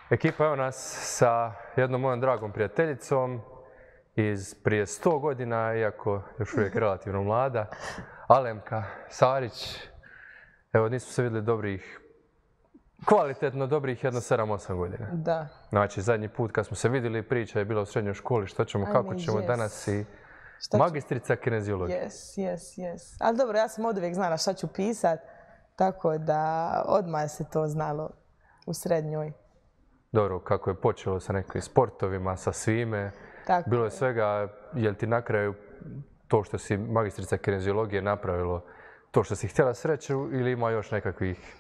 Ekipa evo nas sa jednom mojom dragom prijateljicom iz prije 100 godina, iako još uvijek relativno mlada, Alemka Sarić. Evo, nismo se vidjeli kvalitetno dobrih jedno 7-8 godina. Da. Znači, zadnji put kad smo se vidjeli, priča je bila u srednjoj školi, što ćemo, kako ćemo danas i magistrica kineziologije. Yes. Ali dobro, ja sam od uvijek znala šta ću pisat, tako da odmah se to znalo u srednjoj. Dobro, kako je počelo sa nekim sportovima, sa svime. Tako bilo je svega, je li ti na kraju to što si magistrica kineziologije napravilo to što si htjela sreću ili ima još nekakvih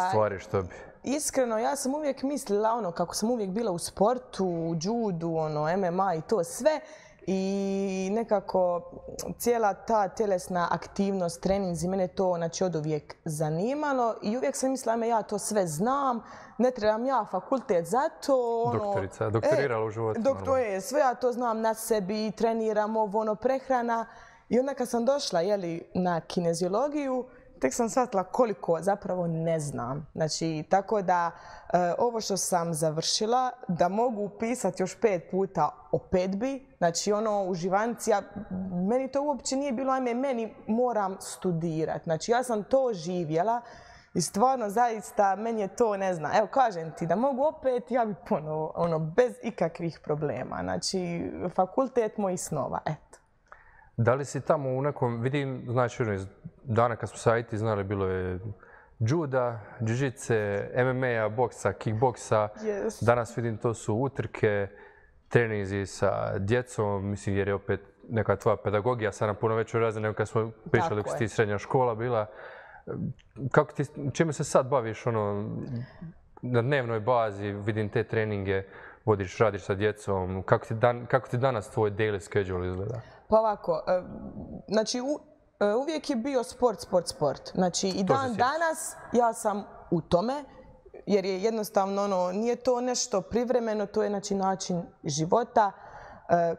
stvari što bi? Iskreno, ja sam uvijek mislila kako sam uvijek bila u sportu, u judu, MMA i to sve. I nekako cijela ta tjelesna aktivnost, treninzi, mene to od uvijek zanimalo i uvijek sam mislila, ja to sve znam, ne trebam ja fakultet za to. Doktorica, doktorirala u životu. Sve ja to znam na sebi, treniram prehrana. I onda kad sam došla na kineziologiju, tek sam shvatila koliko zapravo ne znam. Znači, tako da ovo što sam završila, da mogu upisati još 5 puta opet bi. Znači, uživanici, meni to uopće nije bilo, meni moram studirati. Znači, ja sam to živjela i stvarno, zaista, meni je to, ne znam. Evo, kažem ti, da mogu opet, ja bi ponovo, bez ikakvih problema. Znači, fakultet mojih snova, eto. Da li si tamo u nekom, vidim, znači, iz dana kad smo sa IT znali, bilo je juda, jiu-jitsu, MMA-a, boksa, kickboksa. Yes. Danas vidim to su utrke, treninzi sa djecom, mislim jer je opet neka tvoja pedagogija sad na puno većoj razini nego kad smo pričali dok si ti srednja škola bila. Čime se sad baviš na dnevnoj bazi, vidim te treninge, vodiš, radiš sa djecom, kako ti danas tvoj daily schedule izgleda? Pa ovako, znači uvijek je bio sport. Znači i dan danas ja sam u tome, jer je jednostavno nije to nešto privremeno, to je način života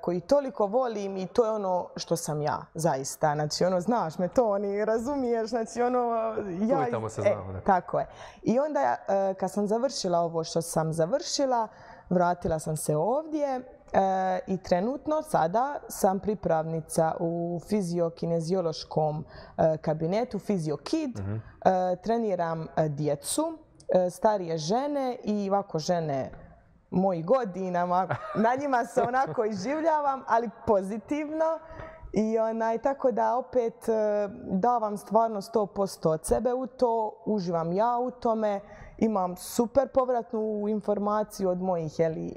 koji toliko volim i to je ono što sam ja, zaista. Znači znaš me to, razumiješ, znači ja... Tamo se znamo. Tako je. I onda kad sam završila ovo što sam završila, vratila sam se ovdje i trenutno sada sam pripravnica u fiziokineziološkom kabinetu FizioKid. Treniram djecu, starije žene i ovako žene mojih godina, na njima se onako iživljavam, ali pozitivno. I tako da opet davam stvarno 100% od sebe u to, uživam ja u tome, imam super povratnu informaciju od mojih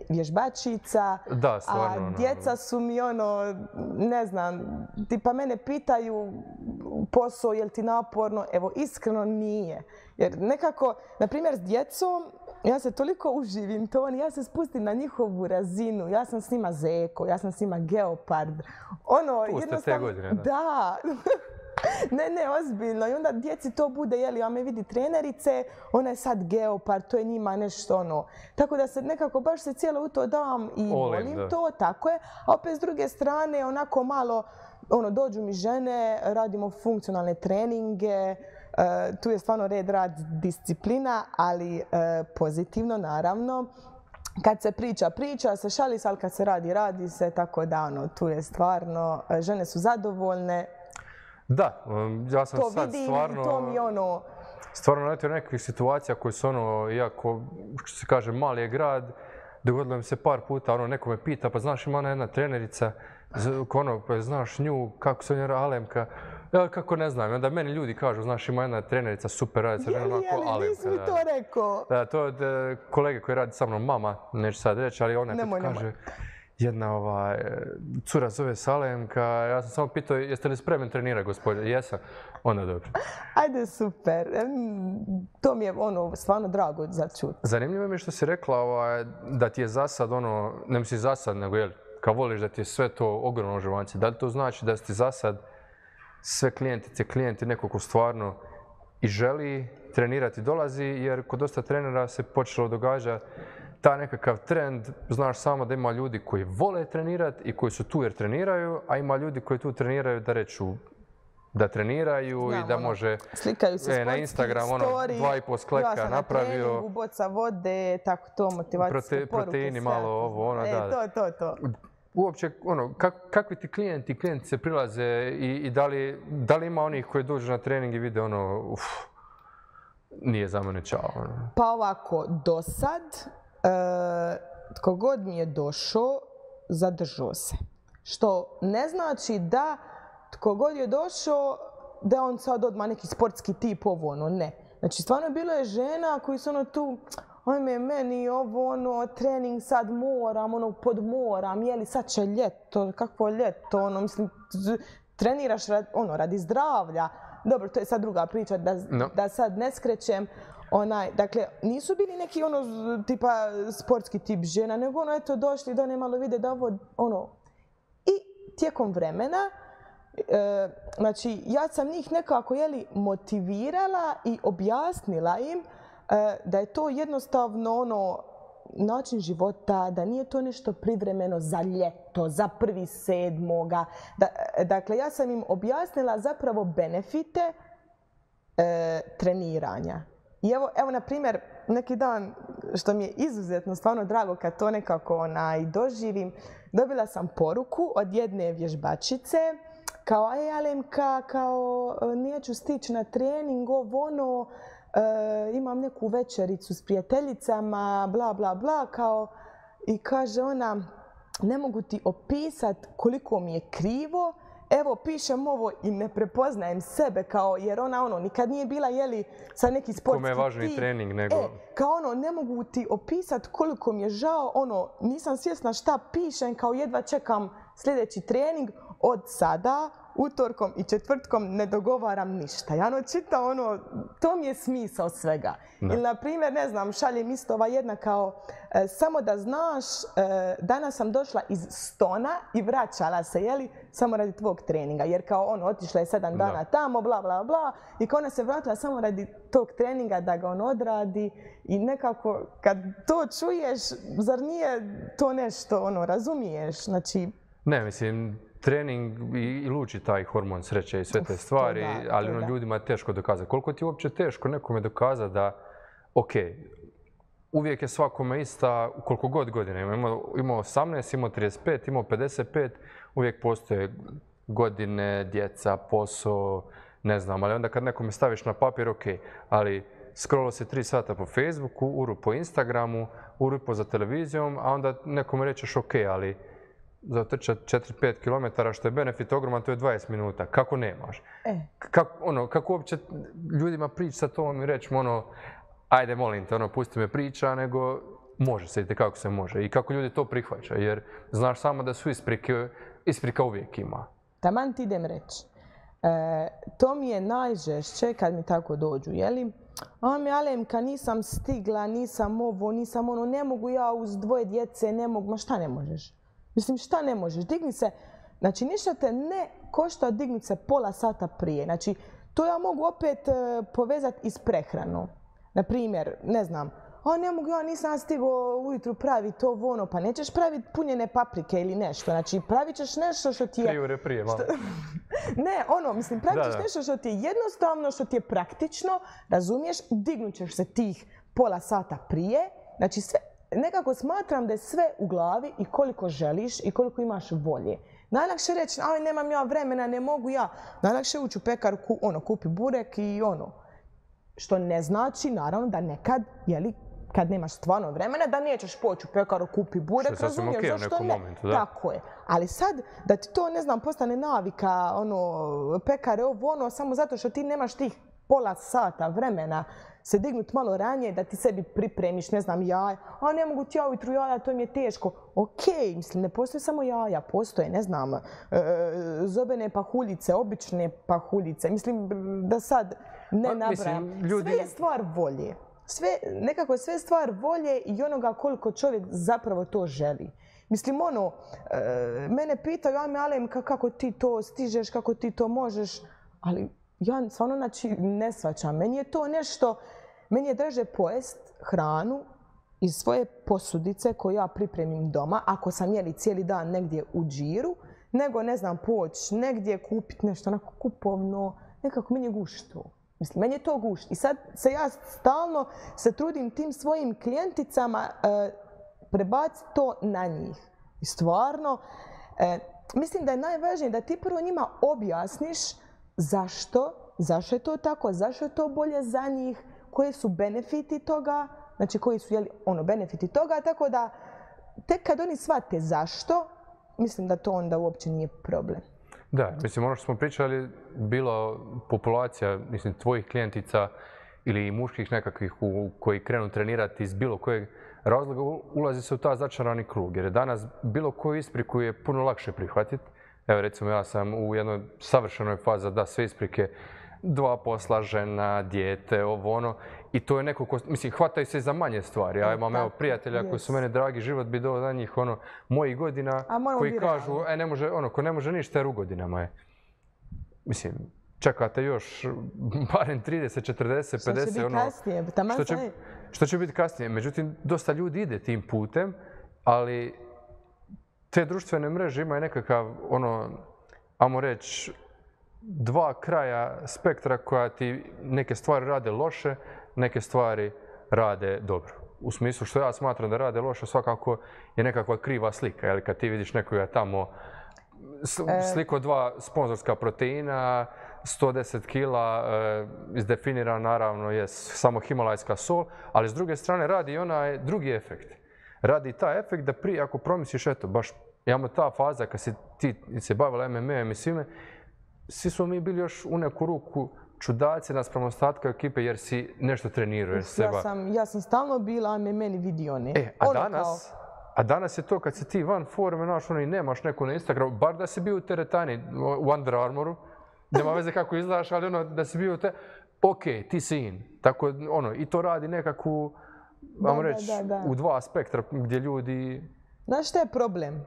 vježbačica, da, stvarno, a djeca su mi ne znam, tipa mene pitaju posao, je li ti naporno? Evo, iskreno nije. Jer nekako, na primjer s djecom, ja se toliko uživim to, ja se spustim na njihovu razinu, ja sam s njima zeko, ja sam s njima geopard. Puste te godine, da. Da. Ne, ozbiljno. I onda djeci to bude, a me vidi trenerice, ona je sad geopard, to je njima nešto Tako da se nekako baš se cijelo u to dam i volim to, tako je. A opet s druge strane, onako malo, dođu mi žene, radimo funkcionalne treninge, tu je stvarno red, rad, disciplina, ali pozitivno naravno. Kad se priča se šali se, ali kad se radi se, tako da tu je stvarno, žene su zadovoljne. Da, ja sam to sad vidim, stvarno... To mi Stvarno naletio nekakvih situacija koje su iako, što se kaže, mali je grad, dogodilo mi se par puta, neko me pita, pa znaš ima ona jedna trenerica, pa znaš nju, kako se njera Alemka, ja kako ne znam, onda meni ljudi kažu, znaš ima jedna trenerica, super radi sa ženom, Alemka. Nisi mi to rekao. Da, to od kolege koji radi sa mnom, mama, neću sad reći, ali ona kaže, jedna cura zove se Alemka, ja sam samo pitao jeste li spremni trenirati gospodine, jesam, onda dobro. Ajde, super, to mi je stvarno drago za čut. Zanimljivo mi je što si rekla da ti je za sad ne misli za sad, nego kao voliš da ti je sve to ogromno uživanje. Da li to znači da si ti za sad sve klijenti neko ko stvarno i želi trenirati dolazi, jer kod dosta trenera se počelo događati ta nekakav trend, znaš samo da ima ljudi koji vole trenirati i koji su tu jer treniraju, a ima ljudi koji tu treniraju da reću da treniraju i da može slikaju se na Instagram 2,5 skleka napravio. Ja sam na treningu, boca vode, tako to, motivacijske poruke. Proteini malo ovo, da. To. Uopće, kakvi ti klijenti se prilaze i da li ima onih koji dođu na trening i vide nije za mene čao. Pa ovako, do sad, tko god mi je došao, zadržao se. Što ne znači da tko god je došao, da on sad odmah neki sportski tip, ne. Znači, stvarno bilo je žena koji su tu, ajme, meni ovo, trening sad moram, podmoram, jeli sad će ljeto, kakvo ljeto, mislim, treniraš radi zdravlja. Dobro, to je sad druga priča, da sad ne skrećem. Dakle, nisu bili neki tipa sportski tip žena, nego eto došli da ne malo vide da I tijekom vremena, znači, ja sam njih nekako motivirala i objasnila im da je to jednostavno način života, da nije to nešto privremeno za ljeto, za 1.7. Dakle, ja sam im objasnila zapravo benefite treniranja. I evo, na primjer, neki dan, što mi je izuzetno stvarno drago kad to nekako doživim, dobila sam poruku od jedne vježbačice, kao, Alemka, kao, neću stići na trening, imam neku večericu s prijateljicama, bla, bla, bla, kao, i kaže ona, ne mogu ti opisati koliko mi je krivo, evo, pišem ovo i ne prepoznajem sebe, kao, jer ona, nikad nije bila, sa neki sportski tip. Kome je važniji trening nego... Kao ne mogu ti opisati koliko mi je žao, nisam svjesna šta pišem, kao jedva čekam sljedeći trening, od sada, utorkom i četvrtkom ne dogovaram ništa. Ja čitam to mi je smisao svega. Ili, na primjer, ne znam, šaljem isto ova jedna kao, samo da znaš, danas sam došla iz Stona i vraćala se, samo radi tvog treninga. Jer kao otišla je 7 dana tamo, bla, bla, bla. I kao ona se vratila samo radi tog treninga da ga odradi. I nekako, kad to čuješ, zar nije to nešto, razumiješ? Znači... Ne, mislim, trening i luči taj hormon sreće i sve te stvari, ali ljudima je teško dokazati. Koliko ti je uopće teško nekome dokazati da, uvijek je svakome ista, koliko god godina ima. Imao 18, imao 35, imao 55, uvijek postoje godine, djeca, posao, ne znam, ali onda kad nekome staviš na papir, ali scrollo se 3 sata po Facebooku, uru po Instagramu, uru po za televizijom, a onda nekome rećeš ali za trčati 4-5 km, što je benefit ogroman, to je 20 minuta. Kako nemaš? Kako uopće ljudima prići sa tom i reći ajde molim te, pusti me priča, nego može se, kako se može. I kako ljudi to prihvaćaju, jer znaš samo da su isprika uvijek ima. Taman ti idem reći. To mi je najžešće kad mi tako dođu, Alemka, nisam stigla, nisam ovo, nisam ono, ne mogu ja uz 2 djece, ne mogu, ma šta ne možeš? Mislim, šta ne možeš? Digni se, znači ništa te ne košta dignuti se pola sata prije. Znači, to ja mogu opet povezati i s prehranom. Naprimjer, ne znam, ne mogu ja, nisam stigao ujutru praviti ovo, pa nećeš praviti punjene paprike ili nešto. Znači, pravit ćeš nešto što ti je... 3 ure prije, malo. Ne, pravit ćeš nešto što ti je jednostavno, što ti je praktično, razumiješ, dignut ćeš se tih pola sata prije. Znači, sve... Nekako smatram da je sve u glavi i koliko želiš i koliko imaš volje. Najlakše reći, nemam ja vremena, ne mogu ja. Najlakše ući u pekaru, kupi burek i Što ne znači, naravno, da nekad, kad nemaš stvarno vremena, da nećeš poći u pekaru, kupi burek, razumiješ, zašto ne? Momentu, da. Tako je. Ali sad, da ti to, ne znam, postane navika, pekare, samo zato što ti nemaš tih pola sata vremena se dignuti malo ranije, da ti sebi pripremiš, ne znam, jaja. Ne mogu ti ja ujutru jaja, to mi je teško. Mislim, ne postoje samo jaja, postoje, ne znam, zobene pahuljice, obične pahuljice. Mislim, da sad ne nabrajam. Sve je stvar volje. Nekako je sve stvar volje i onoga koliko čovjek zapravo to želi. Mislim, mene pitaju, Alemka, kako ti to stižeš, kako ti to možeš, ali ja stvarno ne shvaćam. Meni je to nešto, meni je draže pojest hranu iz svoje posudice koju ja pripremim doma, ako sam cijeli dan negdje u džiru, nego, ne znam, poći negdje kupiti nešto onako kupovno, nekako meni je gušt to. Mislim, meni je to gušt. I sad se ja stalno se trudim tim svojim klijenticama prebaciti to na njih. I stvarno, mislim da je najvažnije da ti prvo njima objasniš zašto je to tako, zašto je to bolje za njih, koji su benefiti toga, znači koji su benefiti toga, tako da tek kad oni shvate zašto, mislim da to onda uopće nije problem. Da, mislim, ono što smo pričali, bilo populacija, mislim, tvojih klijentica ili muških nekakvih koji krenu trenirati iz bilo kojeg razloga, ulazi se u ta začarani krug. Jer danas bilo koju ispriku je puno lakše prihvatiti. Evo, recimo, ja sam u jednoj savršenoj fazi da sve isprike, 2 posla, žena, dijete, ovo ono. I to je neko ko, mislim, hvataju se za manje stvari. Ja imam evo prijatelja koji su mene dragi, život bi dao za njih, mojih godina, koji kažu, ne može, ko ne može ništa jer u godinama je. Mislim, čekate još barem 30, 40, 50, Što će biti kasnije? Što će biti kasnije? Međutim, dosta ljudi ide tim putem, ali te društvene mreže imaju nekakav, ajmo reći, 2 kraja spektra koja ti neke stvari rade loše, neke stvari rade dobro. U smislu što ja smatram da rade loše, svakako je nekakva kriva slika. Jer kad ti vidiš nekoga tamo sliku 2 sponzorska proteina, 110 kila, izdefinirano naravno je samo himalajska sol, ali s druge strane radi i onaj drugi efekt. Radi taj efekt da prije ako promisliš, eto, baš imamo ta faza kad si ti se bavila MMA-em i svime, svi smo mi bili još u neku ruku čudaci naspram ostatka ekipe jer si nešto trenirao. Ja sam stalno bila, meni vidio ne. A danas je to kad si ti van forme, i nemaš neku na Instagramu, bar da si bio u teretani, u Under Armouru, nema veze kako izgledaš, ali da si bio ok, ti si in. Tako, i to radi nekakvu, vam reći, u 2 spektra gdje ljudi... Znaš šta je problem?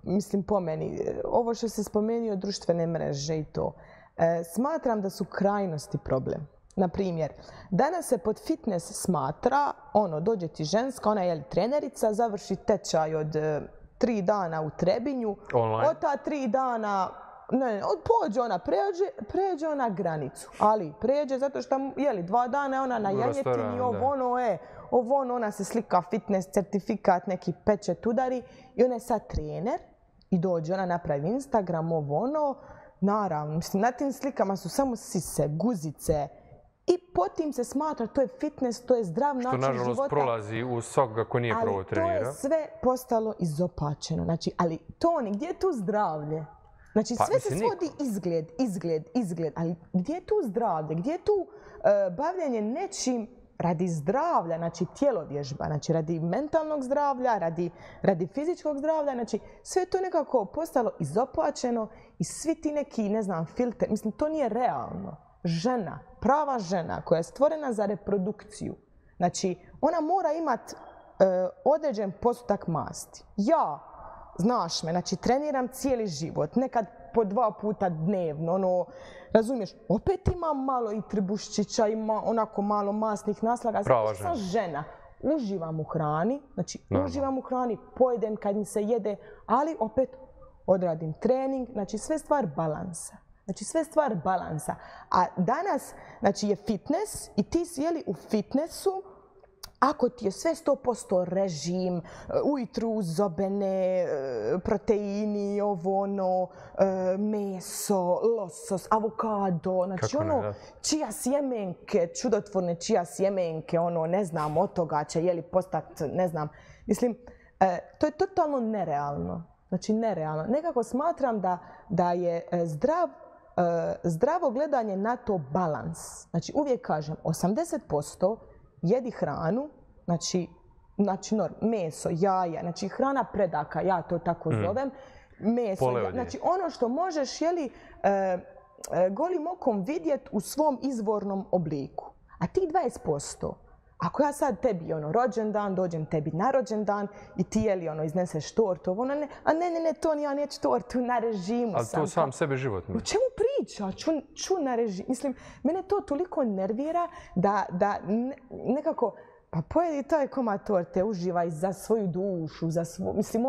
Mislim, po meni, ovo što se spomenuo društvene mreže i to, smatram da su krajnosti problem. Naprimjer, danas se pod fitness smatra, dođe ti ženska, ona je trenerica, završi tečaj od 3 dana u Trebinju, od ta 3 dana, pođe ona, pređe ona granicu, ali pređe zato što, 2 dana je ona na janjetini, ona se slika fitness, certifikat, neki pečet udari i ona je sad trener i dođe, ona napravi Instagram, naravno, mislim, na tim slikama su samo sise, guzice i potim se smatra, to je fitness, to je zdrav način života. Što nažalost prolazi u svakoga ko nije prvo trenira. Ali to je sve postalo izopačeno, znači, ali Toni, gdje je tu zdravlje? Znači, sve se svodi izgled, ali gdje je tu zdravlje, gdje je tu bavljanje nečim radi zdravlja, znači tjelovježba, znači radi mentalnog zdravlja, radi fizičkog zdravlja, znači sve je to nekako postalo izopačeno i svi ti neki, ne znam, filter, mislim, to nije realno. Žena, prava žena koja je stvorena za reprodukciju, znači ona mora imati određen postotak masti. Ja, znaš me, znači treniram cijeli život, nekad po 2 puta dnevno, razumiješ, opet imam malo i tribuščića, ima onako malo masnih naslaga. Prava žena. Sam žena, uživam u hrani, znači uživam u hrani, pojedem kad mi se jede, ali opet odradim trening, znači sve stvar balansa. A danas, znači je fitness i ti si u fitnessu, ako ti je sve 100% režim, ujutru zobene, proteini, meso, losos, avokado, znači čija sjemenke, čudotvorne čija sjemenke, ne znam, od toga će postati, ne znam. Mislim, to je totalno nerealno. Znači, nerealno. Nekako smatram da je zdravo gledanje na to balans. Znači, uvijek kažem, 80% jedi hranu, znači meso, jaja, znači hrana predaka, ja to tako zovem, meso, znači ono što možeš golim okom vidjeti u svom izvornom obliku. A ti 20%, ako ja sad tebi rođendan, dođem tebi na rođendan i ti izneseš tortu, a ne, to ja neću tortu, na režimu sam. Ali to sam sebe život mi. O čemu priča? Ču na režimu. Mislim, mene to toliko nervira da nekako Pa pojedi taj komad torte, uživaj za svoju dušu, mislim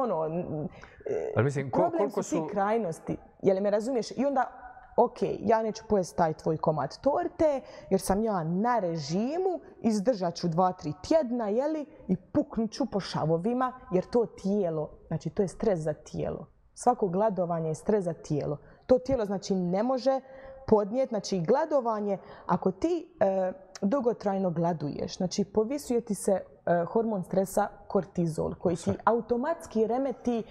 problem su ti krajnosti, jel me razumiješ? I onda, ok, ja neću pojesti taj tvoj komad torte, jer sam ja na režimu, izdržat ću 2-3 tjedna, jeli, i puknut ću po šavovima, jer to tijelo, znači to je stres za tijelo. Svako gladovanje je stres za tijelo. To tijelo, znači, ne može podnijeti, znači gladovanje, ako ti dugotrajno gladuješ, znači povisuje ti se hormon stresa kortizol, koji ti automatski remeti,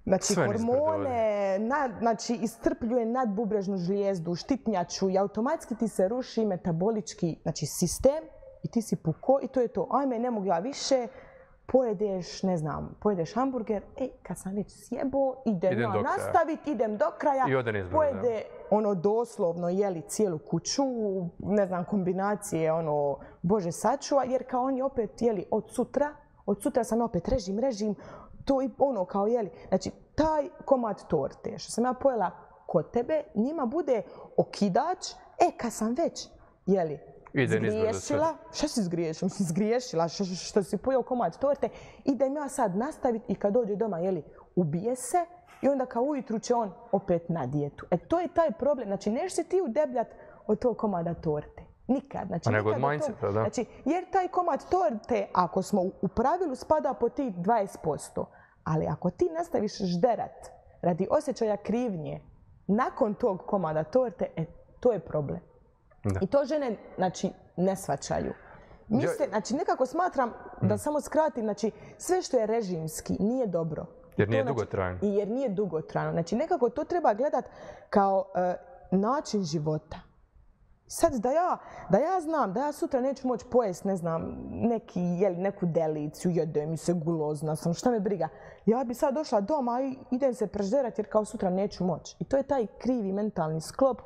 znači hormone, znači iscrpljuje nadbubrežnu žlijezdu, štitnjaču i automatski ti se ruši metabolički, znači, sistem i ti si puko i to je to. Ajme, ne mogu ja više, pojedeš, ne znam, pojedeš hamburger, kad sam već sjebo, idem ja nastaviti, idem do kraja, pojede doslovno jeli cijelu kuću, ne znam, kombinacije, Bože sačuva, jer kao oni opet jeli od sutra sam opet režim, to i kao jeli. Znači, taj komad torte što sam ja pojela kod tebe, njima bude okidač, kad sam već jeli, zgriješila, šta si zgriješila? Zgriješila što si pojeo komad torte, idem ja sad nastaviti i kad dođe doma, jeli, ubije se i onda kao ujutru će on opet na dijetu. To je taj problem. Znači, neš se ti udebljat od tog komada torte. Nikad. Znači, nego od mindseta, da. Znači, jer taj komad torte, ako smo u pravilu, spada po tih 20%. Ali ako ti nastaviš žderat radi osjećaja krivnje nakon tog komada torte, to je problem. Da. I to žene, znači, ne shvaćaju. Znači, nekako smatram, da samo skratim, znači, sve što je režimski nije dobro. Jer nije dugotrajno. Jer nije dugotrajno. Znači, nekako to treba gledat kao način života. Sad da ja znam da ja sutra neću moći pojesti, ne znam, neku deliciju, jede mi se, gulozna sam, šta me briga. Ja bi sad došla doma i idem se prežderat jer kao sutra neću moći. I to je taj krivi mentalni sklop,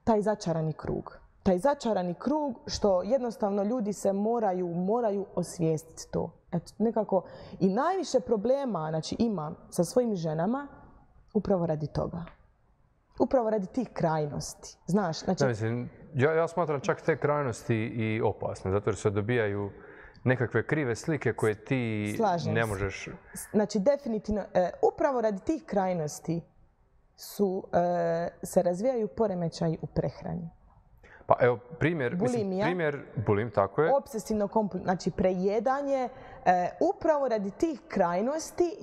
taj začarani krug. Taj začarani krug što jednostavno ljudi se moraju osvijestiti to. Eto, nekako i najviše problema, znači, imam sa svojim ženama upravo radi toga. Upravo radi tih krajnosti. Znaš, znači... Ja smatram čak te krajnosti i opasne, zato jer se dobijaju nekakve krive slike koje ti ne možeš... Znači, definitivno, upravo radi tih krajnosti se razvijaju poremećaji u prehrani. Pa evo, primjer, bulim, tako je. Obsesivno kompulsivno, znači prejedanje, upravo radi tih krajnosti,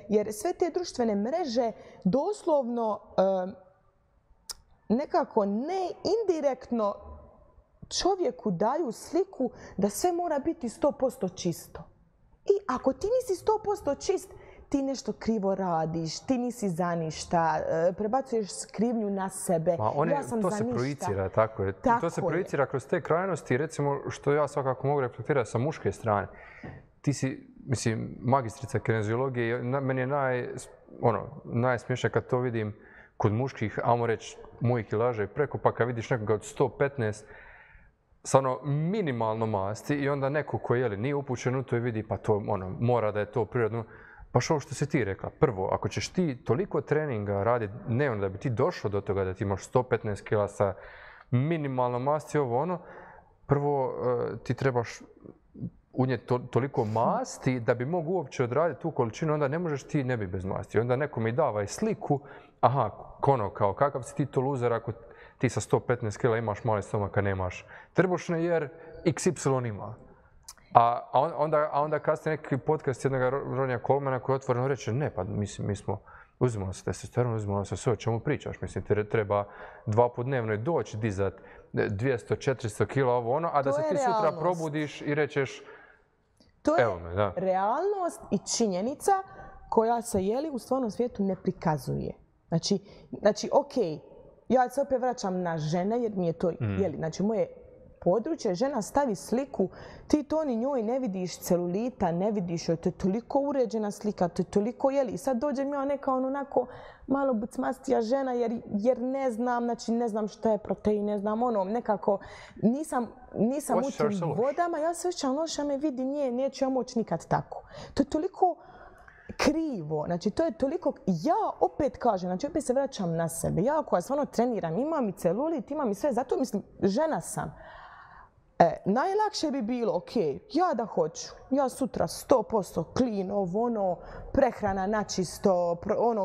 jer sve te društvene mreže doslovno nekako indirektno čovjeku daju sliku da sve mora biti 100% čisto. I ako ti nisi 100% čist, ti nešto krivo radiš, ti nisi za ništa, prebacuješ krivnju na sebe, ja sam za ništa. To se projicira, tako je. To se projicira kroz te krajnosti, recimo, što ja svakako mogu reflektirati sa muške strane. Ti si, mislim, magistrica kineziologije, meni je najsmješnije kad to vidim kod muških, ajmo reći, mojih kilaža i preko, pa kad vidiš nekoga od 115, stvarno minimalno masti i onda neko koji nije upućen u to i vidi, pa to mora da je to prirodno. Baš ovo što si ti rekla. Prvo, ako ćeš ti toliko treninga raditi dnevno da bi ti došao do toga da ti imaš 115 kila sa minimalno masti, prvo ti trebaš unijeti toliko masti da bi mogu uopće odraditi tu količinu, onda ne možeš ti ne bi bez masti. Onda neko mi dava i sliku, kao kakav si ti to luzer ako ti sa 115 kila imaš mali stomak, a nemaš trbušne jer XY ima. A onda kasnije neki podcast jednog Ronija Colemana koji otvoreno reče, ne, pa mi smo, uzimamo se testosteron, uzimamo se sve, o čemu pričaš? Mislim, treba 2 puta dnevno doći, dizat 200-400 kila, a da se ti sutra probudiš i rečeš, evo me, da. To je realnost i činjenica koja se u stvarnom svijetu ne prikazuje. Znači, okej, ja se opet vraćam na žene jer mi je to, znači moje područje, žena stavi sliku, ti to ni njoj ne vidiš celulita, ne vidiš joj, to je toliko uređena slika, to je toliko i sad dođem ja neka onako malo bucmastija žena jer ne znam, znači ne znam šta je protein, ne znam nekako nisam u tim vodama, ja se osjećam loša, me vidi neću ja moći nikad tako. To je toliko krivo, znači to je toliko, ja opet kažem, znači opet se vraćam na sebe, ja koja stvarno treniram, imam i celulit, imam i sve, zato mislim, žena sam. Najlakše bi bilo, ok, ja da hoću, ja sutra 100% clean, prehrana načisto,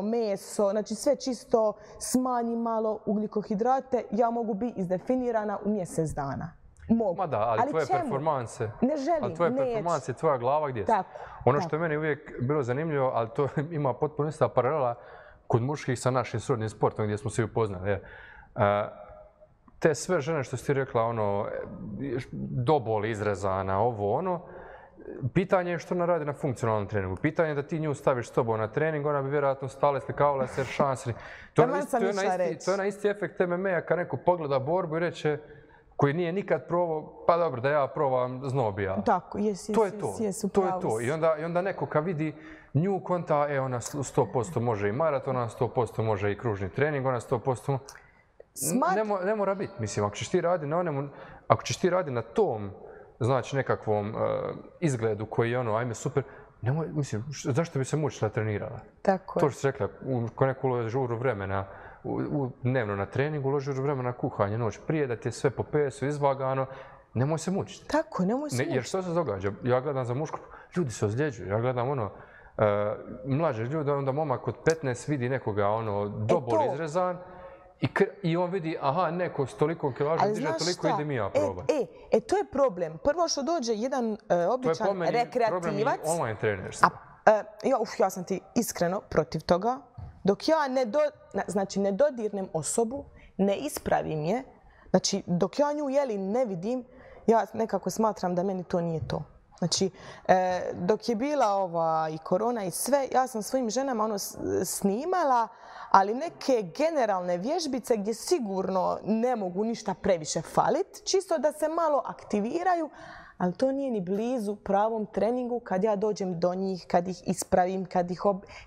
meso, znači sve čisto, smanji malo ugljikohidrate, ja mogu biti izdefinirana u mjesec dana. Mogu. Ma da, ali tvoje performanse, ne želim, performanse, tvoja glava gdje su? Ono što je meni uvijek bilo zanimljivo, ali to ima potpuno ista paralela kod muških sa našim srodnim sportom gdje smo se upoznali. Te sve žene što si ti rekla, do boli izrezana, pitanje je što ona radi na funkcionalnom treningu. Pitanje je da ti nju staviš s tobom na trening, ona bi vjerojatno stala, slikavala se, šansni. To je onaj isti efekt MMA-a kad neko pogleda borbu i reče koji nije nikad probao, pa dobro da ja probam znobija. Tako, to je to. I onda neko kad vidi nju konta, ona 100% može i maraton, ona 100% može i kružni trening, ona 100%... Ne mora biti. Mislim, ako ćeš ti radi na tom, znači nekakvom izgledu koji je ajme super, mislim, zašto bi se mučila trenirala? Tako je. To što si rekla, ko neko uloži žuru vremena dnevno na treningu, uloži žuru vremena na kuhanje noć prije, da ti je sve po pesu izvagano, nemoj se mučiti. Tako, nemoj se mučiti. Jer što se događa? Ja gledam za mušku, ljudi se ozljeđuju, ja gledam mlađe ljudi, onda momak od 15 vidi nekoga dobol izrezan, i on vidi, neko s toliko kilaža diže, toliko idem i ja probat. To je problem. Prvo što dođe jedan običan rekreativac... To je problem i online trenerstva. Ja sam ti iskreno protiv toga. Dok ja ne dodirnem osobu, ne ispravim je, znači dok ja nju ne vidim, ja nekako smatram da meni to nije to. Znači, dok je bila i korona i sve, ja sam svojim ženama snimala, ali neke generalne vježbice gdje sigurno ne mogu ništa previše falit, čisto da se malo aktiviraju, ali to nije ni blizu pravom treningu kad ja dođem do njih, kad ih ispravim,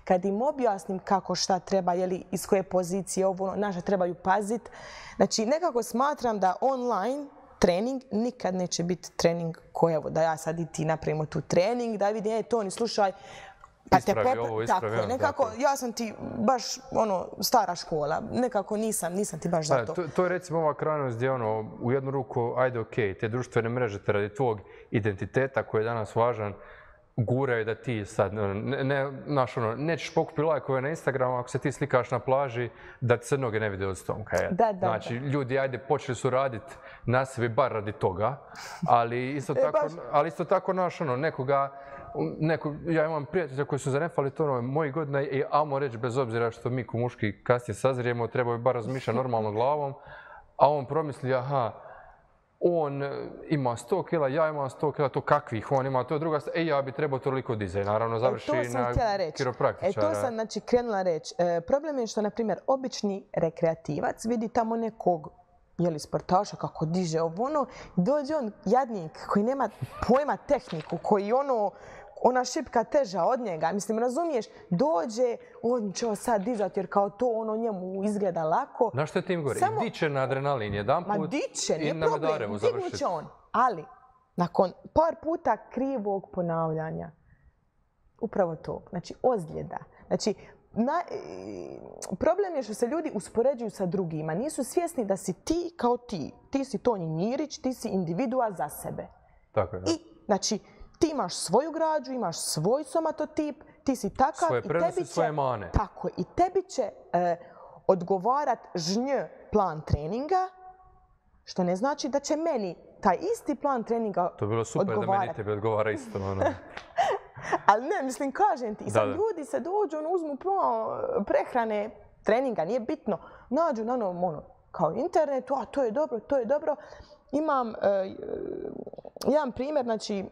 kad im objasnim kako šta treba, iz koje pozicije naše trebaju paziti. Znači, nekako smatram da online trening nikad neće biti trening koji, da ja sad i ti napravimo tu trening, da vidim, Toni, slušaj, pa te ispravi, nekako, ja sam ti baš stara škola, nekako nisam ti baš za to. To je recimo ova krajnost gdje u jednu ruku, ajde okej, te društvene mreže te radi tvog identiteta koji je danas važan, guraju da ti sad, nećeš pokupiti lajkove na Instagramu ako se ti slikaš na plaži da ti se noge ne vide od stomka. Znači, ljudi, ajde, počeli su raditi na sebi bar radi toga, ali isto tako ja imam prijatelja koji su zanefali to mojih godina i ajmo reći, bez obzira što mi ko muški kasnije sazrijemo, trebaju bar razmišljati normalno glavom, a on promisli, on ima 100 kila, ja imam 100 kila, to kakvih on ima, to je druga stvar, ja bi trebao toliko dizaj, naravno završi na kiropraktičara. To sam krenula reći. Problem je što, na primjer, obični rekreativac vidi tamo nekog sportaša kako diže dođe on jadnik koji nema pojma tehniku, koji ona šipka teža od njega, mislim, razumiješ, dođe, on će sad dizati jer kao to njemu izgleda lako. Znaš što je tim gore? I diće na adrenalin jedan put i na Madarevu završiti. Dignut će on, ali nakon par puta krivog ponavljanja, upravo to, znači ozljeda. Znači, problem je što se ljudi uspoređuju sa drugima. Nisu svjesni da si ti kao ti. Ti si Tonji Njirić, ti si individua za sebe. Tako je. I, znači, ti imaš svoju građu, imaš svoj somatotip, ti si takav. Svoje prednosti, svoje mane. Tako je. I tebi će odgovarat plan treninga, što ne znači da će meni taj isti plan treninga odgovarat. To je bilo super da meni tebi odgovara isto. Ali ne, mislim, kažem ti, sad ljudi se dođu, uzmu prehrane, treninga, nije bitno, nađu na kao internetu, to je dobro. Imam jedan primjer, znači,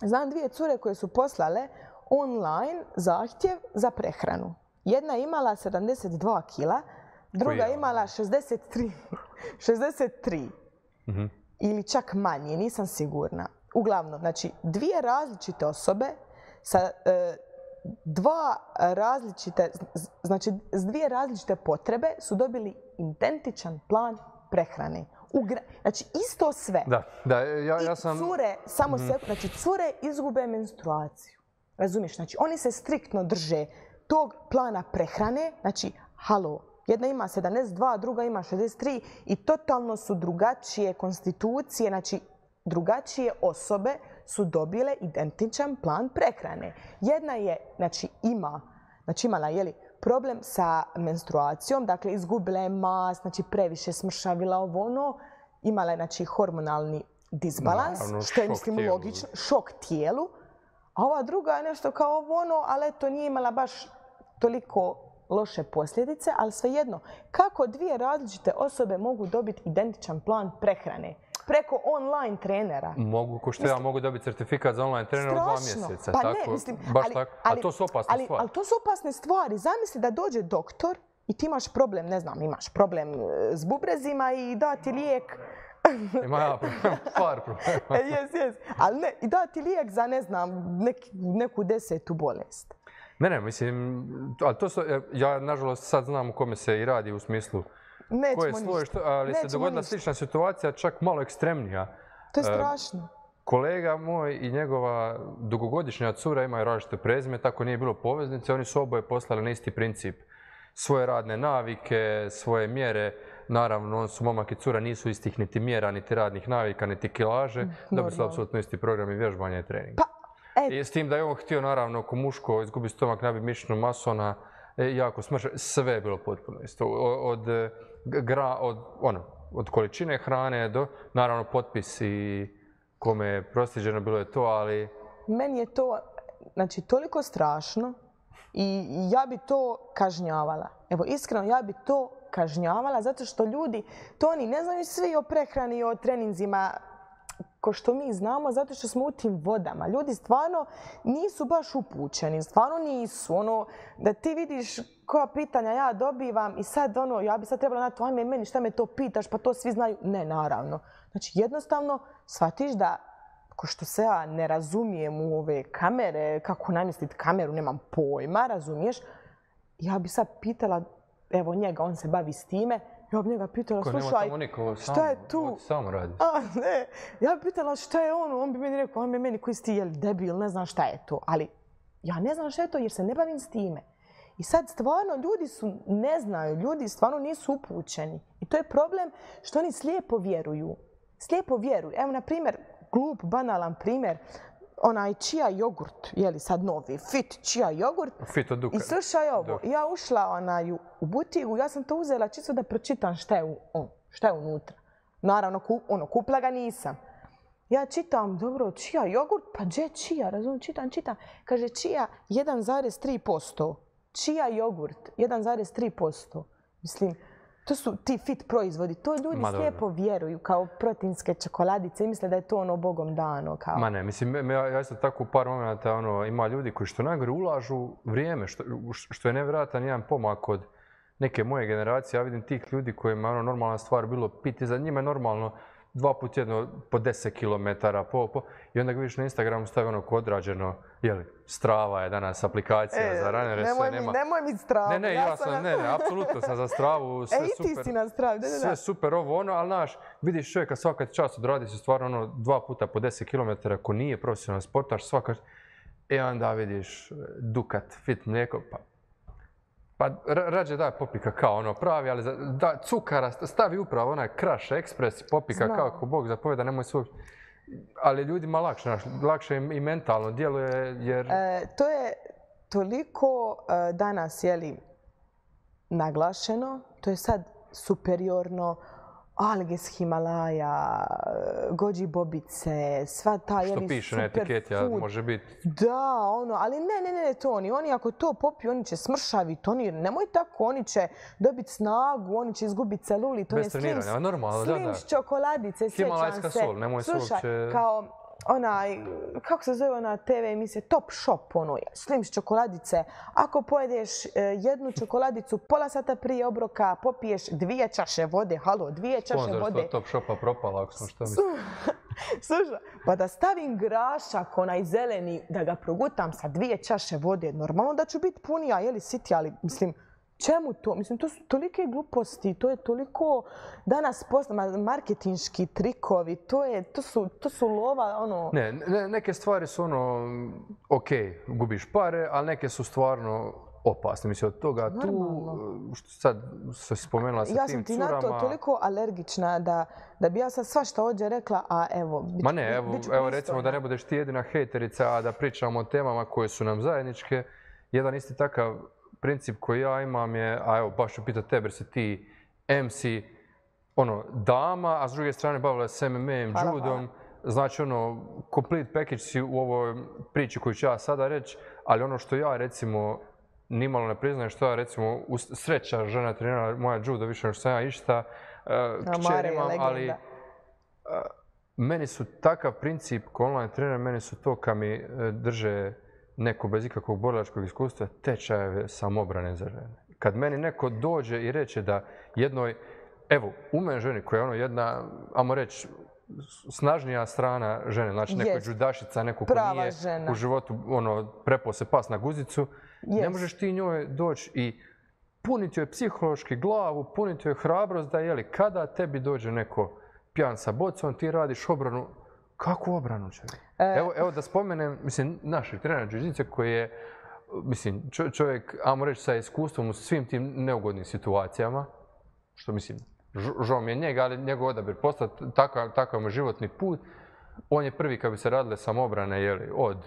znam dvije cure koje su poslale online zahtjev za prehranu. Jedna je imala 72 kila, druga je imala 63. Ili čak manje, nisam sigurna. Uglavnom, znači, dvije različite osobe sa dvije različite potrebe su dobili identičan plan prehrane. Znači, isto sve. Ja sam... I cure, znači, cure izgube menstruaciju. Razumiješ? Znači, oni se striktno drže tog plana prehrane. Znači, jedna ima 72, druga ima 63 i totalno su drugačije konstitucije. Znači, drugačije osobe su dobile identičan plan prehrane. Jedna je, imala problem sa menstruacijom, dakle izgubila je mas, previše smršavila ono, imala je hormonalni disbalans, što je mislim logično, šok tijelu. A ova druga je nešto kao ono, ali eto nije imala baš toliko loše posljedice, ali svejedno, kako dvije različite osobe mogu dobiti identičan plan prehrane? Preko online trenera. Mogu, ko što ja mogu dobiti certifikat za online trenera u 2 mjeseca. Pa tako, ne, mislim, baš tako. A to su opasne stvari. Ali to su opasne stvari. Zamisli da dođe doktor i ti imaš problem, ne znam, imaš problem s bubrezima i da ti lijek. Ima ja par problema. Jes. Ali ne, i da ti lijek za, ne znam, neku 10. bolest. Ne, mislim, ali to su, ja nažalost sad znam u kome se i radi u smislu koje sloj, ali se dogodila slična situacija, čak malo ekstremnija. To je strašno. Kolega moj i njegova dugogodišnja cura imaju različite prezime, tako nije bilo poveznice, oni su oboje poslali na isti princip. Svoje radne navike, svoje mjere, naravno, on su momak i cura, nisu istih niti mjera, niti radnih navika, niti kilaže, dobili su apsolutno isti program i vježbanja i treninga. I s tim da je on htio, naravno, ko muško izgubi stomak, nabiti mišićnu masu, ona jako smrša, sve je bilo potpuno isto. Od količine hrane do, naravno, potpis i kome je prosljeđeno bilo je to, ali... Meni je to, toliko strašno i ja bi to kažnjavala. Evo, iskreno, ja bi to kažnjavala zato što ljudi, to oni ne znaju svi o prehrani i o treninzima ko što mi znamo, zato što smo u tim vodama. Ljudi stvarno nisu baš upućeni, stvarno nisu. Da ti vidiš koja pitanja ja dobivam i sad ja bi sad trebala na to, ajme meni šta me to pitaš, pa to svi znaju. Ne, naravno. Znači jednostavno shvatiš da, ko što se ja ne razumijem u ove kamere, kako namjestiti kameru, nemam pojma, razumiješ? Ja bi sad pitala, evo njega, on se bavi s time, ja bi njega pitala, slušaj, šta je tu? Samo radi. Ne, ja bi pitala šta je on bi meni rekao, ajme meni koji si ti, jel debil, ne znam šta je to. Ali ja ne znam šta je to jer se ne bavim s time. I sad stvarno ljudi ne znaju, ljudi stvarno nisu upućeni. I to je problem što oni slijepo vjeruju. Slijepo vjeruju. Evo, na primjer, glup, banalan primjer, onaj čija jogurt, sad novi, fit čija jogurt. Fit od Duka. I slušaj ovo, ja ušla u butigu, ja sam to uzela čisto da pročitam šta je unutra. Naravno, kupila ga nisam. Ja čitam, dobro, čija jogurt, pa gdje čija, razumijem, čitam. Kaže, čija 1,3%. Čija jogurt 1,3%. Mislim, to su ti fit proizvodi. To ljudi slijepo vjeruju kao proteinske čokoladice i misle da je to bogom dano. Kao. Ma ne, mislim, ja isto tako u par momenta ima ljudi koji što najgore ulažu vrijeme, što je nevjerojatan jedan pomak od neke moje generacije. Ja vidim tih ljudi kojima je normalna stvar bilo piti, za njima je normalno 2 puta jedno po 10 km i onda ga vidiš na Instagramu stavi odrađeno, Strava je danas aplikacija za ranere, sve nema. Nemoj mi Stravu. Ne, apsolutno sam za Stravu, sve super. I ti si na Stravi, sve super ali znaš, vidiš čovjeka svaka čast odradi se stvarno 2 puta po 10 km, ako nije profesionalan sportaš, svaka... onda vidiš Dukat, fit mlijeko, pa rađe daj popika kao pravi, ali da cukara stavi upravo onaj Crush Express, popika kao ako Bog zapovjeda, nemoj svoj... Ali ljudima lakše i mentalno djeluje jer... To je toliko danas, naglašeno, to je sad superiorno, alge s Himalaja, goji bobice, sva ta superfood. Što piše na etiketi, a može biti... Da, ali ne, to oni ako to popiju, oni će smršaviti, nemoj tako, oni će dobiti snagu, oni će izgubiti celulit, bez treniranja, normalno, da. Slims čokoladice, sjećam se. Himalajska sol, nemoj se uopće... Slušaj, kao kako se zove ona TV emisija, Top Shop, Slims čokoladice. Ako pojedeš jednu čokoladicu pola sata prije obroka, popiješ 2 čaše vode, 2 čaše vode. Sponzorstvo Top Shopa propala, ako sam što mislim. Slušaj, pa da stavim grašak, onaj zeleni, da ga progutam sa 2 čaše vode, normalno da ću biti punija, siti, ali mislim, čemu to? Mislim, to su tolike gluposti, to je toliko danas marketinški trikovi, to su lova, Ne, neke stvari su ok, gubiš pare, ali neke su stvarno opasni. Mislim, od toga tu, što sad se spomenula sa tim curama... Ja sam ti na to toliko alergična da bi ja sad svašta ovdje rekla, a evo... Ma ne, evo recimo da ne budeš ti jedina hejterica, a da pričamo o temama koje su nam zajedničke. Jedan isti takav princip koji ja imam je, a evo baš ću pitati tebe jer si ti MC, dama, a s druge strane bavila se MMA-em, judom. Znači, complete package si u ovoj priči koju ću ja sada reći, ali ono što ja, recimo, nimalo ne priznajem, što ja, recimo, sreća žena trenirala moja judo više nego što sam ja išta, kćer imam, ali meni su takav princip ko online trener, meni su to kad mi drže neko bez ikakvog borilačkog iskustva, tečajeve samobrane za žene. Kad meni neko dođe i reče da jednoj, evo, u meni ženi koja je jedna, ajmo reći, snažnija strana žene, znači neko judašica, neko ko nije u životu prepao se pas na guzicu, ne možeš ti njoj doći i puniti joj psihološki glavu, puniti joj hrabrost da kada tebi dođe neko pijan sa bocom, ti radiš obranu. Kakvu obranu će? Evo da spomenem, mislim, našeg trenera jiu-jitsu koji je, mislim, čovjek, ajmo reći, sa iskustvom u svim tim neugodnim situacijama, što mislim, žao mi je njega, ali njegov odabir postao takav mu životni put. On je prvi kad bi se radile samoobrane, od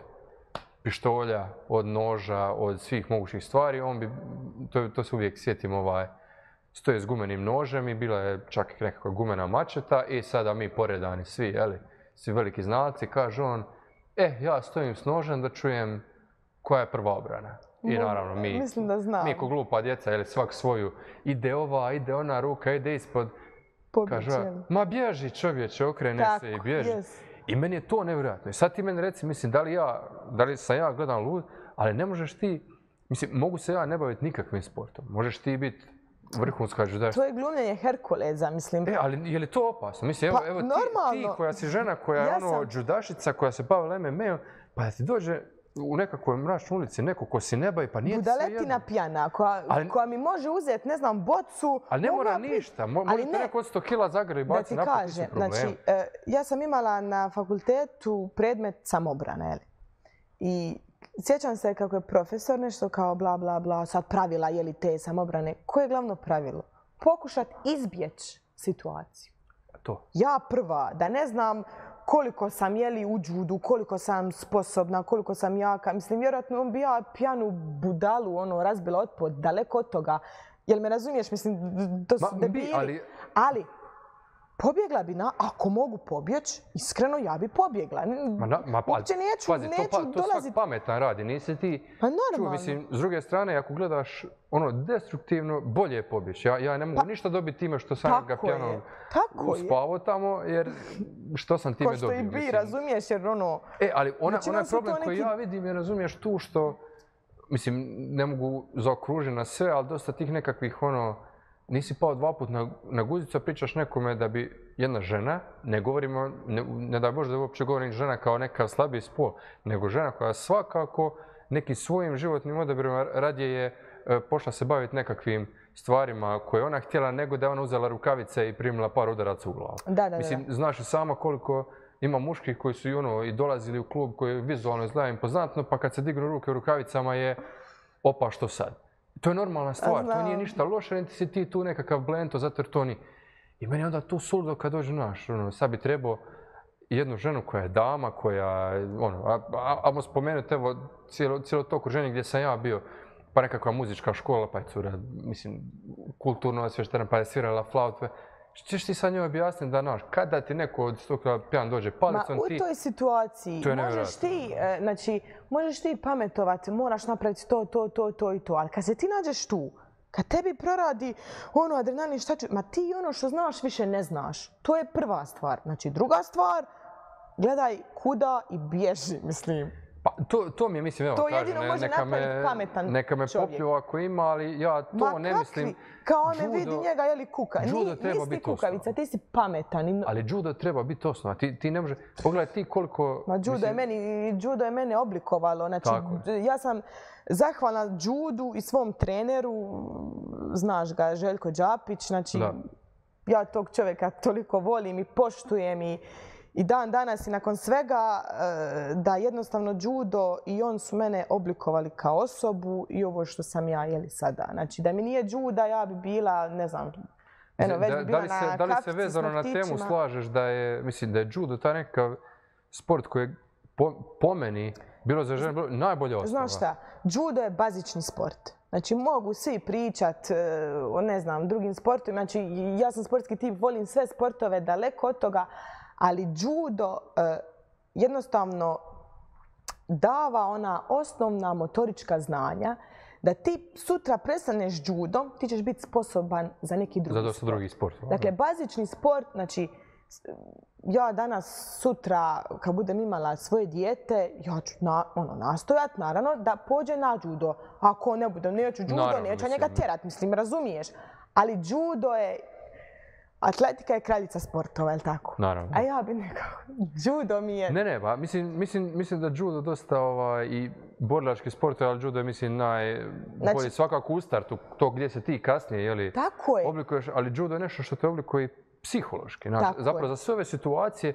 pištolja, od noža, od svih mogućih stvari, on bi, to se uvijek sjetim, stoje s gumenim nožem i bila je čak i nekakva gumena mačeta i sada mi poredani svi, svi veliki znalci, kaže on, ja stojim s nožem da čujem koja je prva obrana. I naravno mi ko glupa djeca, svak svoju, ide ova, ide ona ruka, ide ispod, kaže, ma bježi čovječe, okrene se i bježi. I meni je to nevjerojatno. I sad ti meni reci, mislim, da li sam ja gledam lud, ali ne možeš ti, mislim, mogu se ja ne baviti nikakvim sportom. Možeš ti biti vrhunska judašica. To je glumljenje Herkuleza, mislim. Ali je li to opasno? Mislim, evo ti koja si žena, koja je judašica, koja se bavila MMA-om, pa da ti dođe u nekakvoj mračnoj ulici neko ko si ne bavi, pa nije sve jedno. Budaletina pijana koja mi može uzeti, ne znam, bocu. Ali ne mora ništa. Možete neko od 100 kila zagrli i baci napad, nisu problema. Znači, ja sam imala na fakultetu predmet samobrane. I sjećam se kako je profesor nešto kao bla bla bla, sad pravila te samobrane. Koje je glavno pravilo? Pokušati izbjeći situaciju. To. Ja prva, da ne znam koliko sam u judu, koliko sam sposobna, koliko sam jaka. Mislim, vjerojatno bi ja pijanu budalu razbila otpod, daleko od toga. Jel me razumiješ? Mislim, to su debili. Ali pobjegla bi ako mogu pobjeći, iskreno ja bi pobjegla. Uopće neću dolaziti. To svak pametan radi, nisi ti... Pa normalno. Mislim, s druge strane, ako gledaš destruktivno, bolje je pobjeći. Ja ne mogu ništa dobiti time što sam ga pijanom uspavao tamo, jer što sam time dobio. Ko što i bi, razumiješ, jer ali onaj problem koji ja vidim je, razumiješ, tu što... Mislim, ne mogu zaokružiti na sve, ali dosta tih nekakvih nisi pao 2 puta na guzicu, a pričaš nekome da bi jedna žena, ne govorimo, ne daj Bože da uopće govorim žena kao neka slabiji spol, nego žena koja svakako nekim svojim životnim odabirima radije je pošla se baviti nekakvim stvarima koje ona htjela, nego da je ona uzela rukavice i primila par udaraca u glavu. Mislim, znaš i sama koliko ima muških koji su i dolazili u klub koji je vizualno izgleda impozantno, pa kad se dignu ruke u rukavicama je opa što sad. To je normalna stvar, to nije ništa loše, niti si ti tu nekakav blento, zato jer to ni... I meni je onda tu suludo kad dođe sad bi trebao jednu ženu koja je dama, koja, ajmo spomenuti, evo, cijelo to okruženje gdje sam ja bio, pa nekakva muzička škola, pa je cura, mislim, kulturno osvještena, pa je svirala flaut. Češ ti sad njoj objasniti da, kada ti neko od stoka pijan dođe palicom, ti... U toj situaciji možeš ti pametovati, moraš napraviti to i to, ali kad se ti nađeš tu, kad tebi proradi adrenalin, ma ti što znaš više ne znaš. To je prva stvar. Znači, druga stvar, gledaj kuda i bježi, mislim. Pa to mi je, mislim, evo, to jedino može napraviti pametan čovjek. Neka me poplju ako ima, ali ja to ne mislim. Kao on vidi njega, kuka. Nisi ti kukavica, ti si pametan. Ali judo treba biti osnova. Ti ne može... Pogledaj ti koliko... Judo je mene oblikovalo. Znači, ja sam zahvalna judu i svom treneru, znaš ga, Željko Đapić. Znači, ja tog čovjeka toliko volim i poštujem i dan danas i nakon svega da jednostavno judo i on su mene oblikovali kao osobu i ovo što sam ja sada. Znači da mi nije juda ja bi bila, ne znam, već bi bila na kafici s vrtićima. Da li se vezano na temu slažeš da je, mislim da je judo taj nekakav sport koji je po meni, bilo za žene, najbolja osnova? Znaš šta, judo je bazični sport. Znači mogu svi pričat o, ne znam, drugim sportovima. Znači ja sam sportski tip, volim sve sportove, daleko od toga, ali judo jednostavno dava ona osnovna motorička znanja da ti sutra prestaneš judom, ti ćeš biti sposoban za neki drugi sport. Za dosta drugih sportova. Dakle, bazični sport, znači ja danas, sutra, kad budem imala svoje dijete, ja ću nastojat, naravno, da pođe na judo. Ako ne budem, neću judo, neću njega tjerat, mislim, razumiješ. Ali judo je, atletika je kraljica sportova, je li tako? Naravno. A ja bi nekako, judo mi je... Ne, pa mislim da judo dosta i borilački sport, ali judo je, mislim, najbolji svakako u startu, to gdje se ti kasnije, oblikuješ, ali judo je nešto što te oblikuje psihološki. Zapravo za sve ove situacije,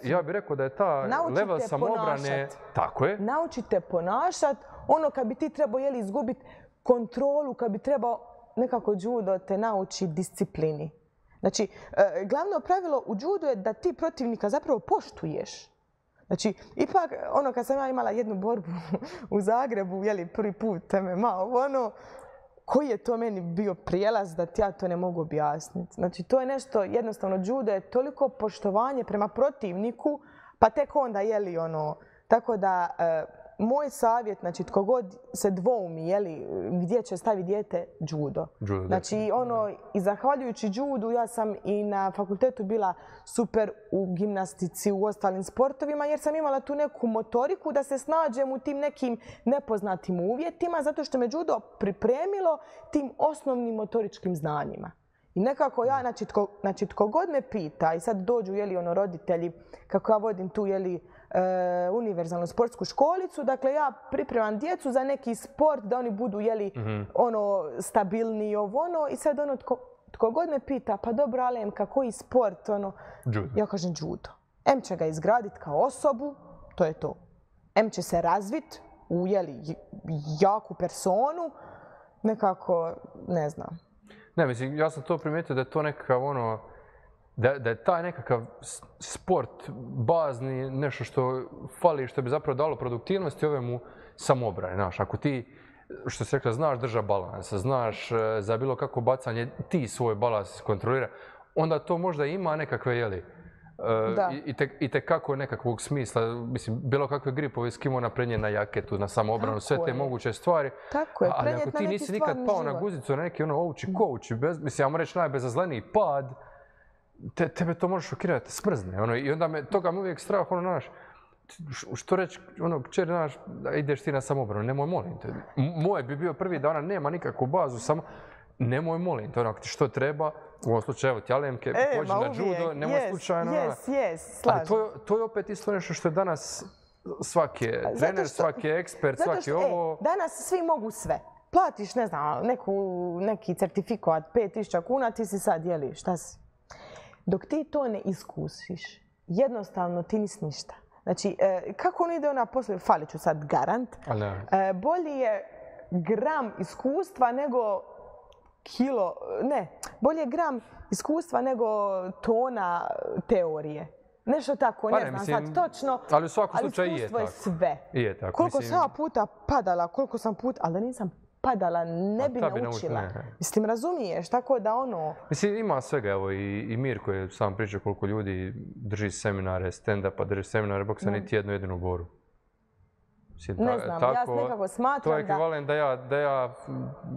ja bih rekao da je ta level samobrane... Tako je. Naučite ponašat. Ono kad bi ti trebao izgubiti kontrolu, kad bi trebao nekako judo te nauči disciplini. Znači, glavno pravilo u judu je da ti protivnika zapravo poštuješ. Znači, ipak, kad sam ja imala jednu borbu u Zagrebu, prvi put MMA, koji je to meni bio prijelaz da ja to ne mogu objasniti. Znači, to je nešto, jednostavno, judo je toliko poštovanje prema protivniku, pa tek onda, tako da, moj savjet, znači, tko god se dvoumi, gdje će staviti dijete, judo. Znači, i zahvaljujući judu, ja sam i na fakultetu bila super u gimnastici, u ostalim sportovima, jer sam imala tu neku motoriku da se snađem u tim nekim nepoznatim uvjetima, zato što me judo pripremilo tim osnovnim motoričkim znanjima. I nekako ja, znači, tko god me pita, i sad dođu, roditelji, kako ja vodim tu, univerzalnu sportsku školicu. Dakle, ja pripremam djecu za neki sport da oni budu, stabilniji, i sad tko god me pita, pa dobro, Alemka, koji sport, ja kažem judo. Em će ga izgraditi kao osobu, to je to. Em će se razviti u, jaku personu, nekako, ne znam. Ne, mislim, ja sam to primijetio da je to nekakav da je taj nekakav sport bazni, nešto što fali, što bi zapravo dalo produktivnosti ove mu samobrane. Znaš, ako ti, što se rekla, znaš drža balans, znaš za bilo kako bacanje, ti svoj balans kontrolira, onda to možda ima nekakve, i tekako nekakvog smisla, mislim, bilo kakve gripove, skimona, prenijeti na jaketu, na samoobranu, sve te moguće stvari. Tako je, ali ako ti nisi nikad pao na guzicu, na neki ovči kouči, mislim, ja mu reći najbezazleniji pad, tebe to može šokirati, te smrzne. I onda toga me uvijek strah, što reći, kćer, znaš, ideš ti na samobranu, nemoj, molim te. Moje bi bio prvi da ona nema nikakvu bazu, samo nemoj, molim te, ako ti što treba, u ovom slučaju, evo ti Alemke, pođi na judo, nemoj slučajno. Ali to je opet isto nešto što je danas svaki trener, svaki ekspert, svaki ovo... Danas svi mogu sve. Platiš, ne znam, neki certifikat 5.000 kuna, ti si sad, šta si? Dok ti to ne iskusiš, jednostavno ti nisi ništa. Znači, kako on ide poslije, falit ću sad garant, bolji je gram iskustva nego bolje je gram iskustva nego tona teorije. Nešto tako, ne znam sad točno, ali u svakom slučaju iskustvo je sve. Je tako. Koliko sam ja puta padala, ali da nisam padala, ne bi naučila. Mislim, razumiješ, tako da Mislim, ima svega, evo i Mirko je sam pričao koliko ljudi drži seminare stand-upa, drži seminare boksa, niti jednu jedinu boru. Ne znam, ja nekako smatram to je ekvivalent da ja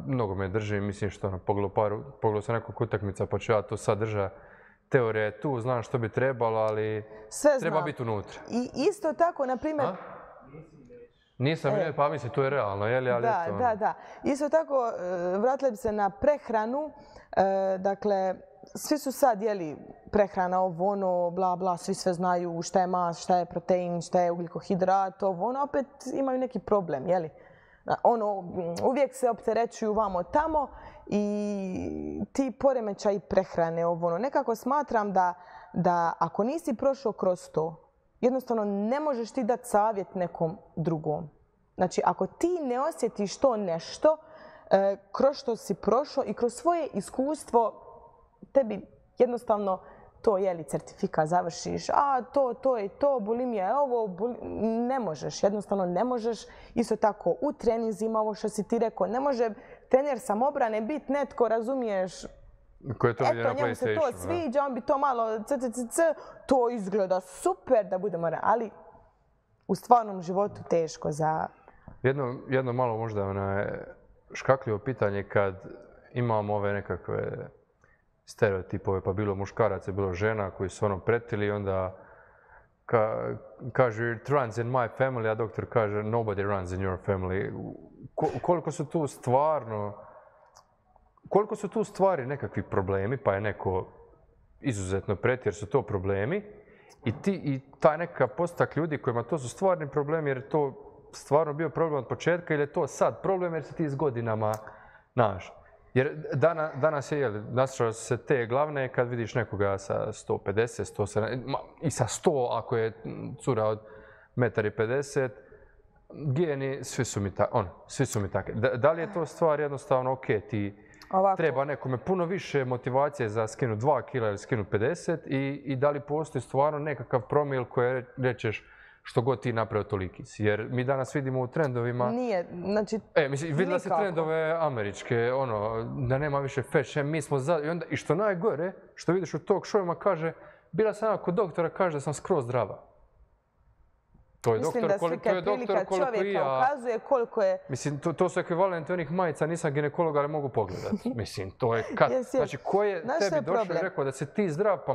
mnogo me držim, mislim što pogledao sam nekoliko utakmica pa ću ja to sad drža. Teorija je tu, znam što bi trebalo, ali treba biti unutra. I isto tako, na primjer... Nisam, pa mislim, to je realno, je li? Da. Isto tako, vratila bi se na prehranu. Dakle, svi su sad, prehrana, bla, bla, svi sve znaju šta je mast, šta je protein, šta je ugljikohidrat, opet imaju neki problem, uvijek se opterećuju vamo tamo i ti poremećaji prehrane, nekako smatram da da ako nisi prošao kroz to, jednostavno ne možeš ti dati savjet nekom drugom. Znači, ako ti ne osjetiš to nešto, kroz što si prošao i kroz svoje iskustvo, tebi jednostavno to certifikat završiš, to je to, bulimija je ovo, ne možeš, jednostavno ne možeš. Isto tako u treninzima, ovo što si ti rekao, ne može trener samobrane biti netko, razumiješ, eto, njemu se to sviđa, on bi to malo to izgleda super da budemo, ali u stvarnom životu teško za... Jedno malo možda škakljivo pitanje kad imamo ove nekakve stereotipove, pa bilo muškaraca, bilo žena koji su pretili, onda kaže it runs in my family, a doktor kaže nobody runs in your family. Koliko su tu stvari nekakvi problemi, pa je neko izuzetno pretjer, jer su to problemi, i taj nekakav postotak ljudi kojima to su stvarni problemi, jer je to stvarno bio problem od početka, ili je to sad problem jer se ti s godinama naš. Jer danas naslušao se te glavne kad vidiš nekoga sa 150, 170 i sa 100 ako je cura od 1,50 m, geni, svi su mi takvi. Da li je to stvar jednostavno, ok, ti treba nekome puno više motivacije za skinu 2 kg ili skinu 50 i da li postoji stvarno nekakav promil koji rečeš što god ti napravio toliki si. Jer mi danas vidimo u trendovima... Nije, znači... Vidjela si trendove američke, da nema više fat shame, mi smo za... I što najgore, što vidiš u talk showima, kaže, bila sam kod doktora, kaže da sam skroz zdrava. To je doktor koliko i ja. Ukazuje koliko je... Mislim, to su ekvivalenti onih majica, nisam ginekolog, ali mogu pogledati. Mislim, to je kad... Znači, ko je tebi došao i rekao da si ti zdrav, pa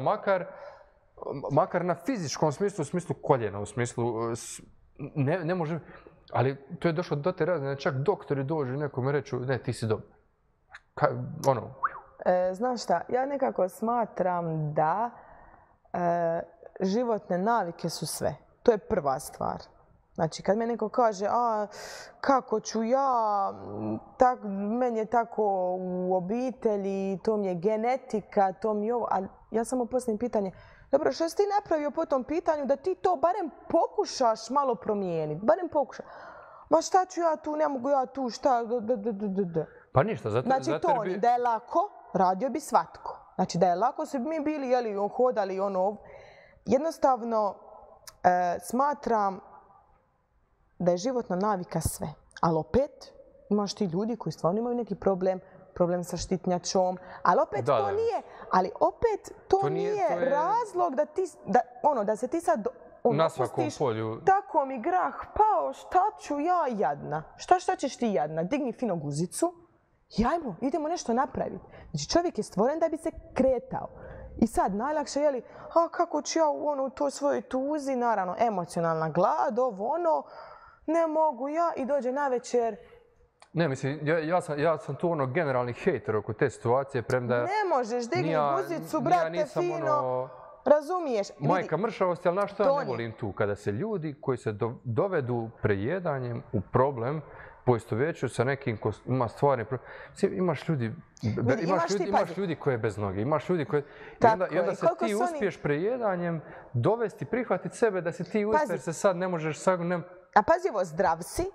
makar na fizičkom smislu, u smislu koljena, u smislu ne može, ali to je došlo do te razine, čak doktori dođu nekome reću, ne, ti si dobar. Znaš šta, ja nekako smatram da životne navike su sve. To je prva stvar. Znači, kad me neko kaže, kako ću ja, meni je tako u obitelji, to mi je genetika, to mi je ovo, ali ja samo postavim pitanje, dobro, što si ti napravio po tom pitanju da ti to barem pokušaš malo promijeniti? Barem pokušaš. Ma šta ću ja tu, ne mogu ja tu, šta? Pa ništa, zato... Znači to, da je lako, radio bi svatko. Znači da je lako, se bi mi bili, hodali jednostavno smatram da je životna navika sve. Ali opet imaš ti ljudi koji stvarno imaju neki problem sa štitnjačom, ali opet to nije, ali opet to nije razlog da se ti sad opustiš, tako mi grah pao, šta ću ja jadna? Šta ćeš ti jadna? Digni fino guzicu i ajmo, idemo nešto napraviti. Znači čovjek je stvoren da bi se kretao. I sad najlakše je kako ću ja u toj svojoj tuzi, naravno emocionalna glad, ne mogu ja i dođe navečer. Ne, mislim, ja sam tu generalni hejter oko te situacije, premda... Ne možeš, digni guzicu, brate, fino, razumiješ. Majka mršavosti, ali znaš što ja ne volim tu? Kada se ljudi koji se dovedu prejedanjem u problem, poistovjećuju sa nekim ko ima stvarni problem. Imaš ljudi koji je bez noge, imaš ljudi koji... I onda se ti uspiješ prejedanjem dovesti, prihvatiti sebe da si ti uspješ, jer se sad ne možeš... A pazi ovo, zdrav si,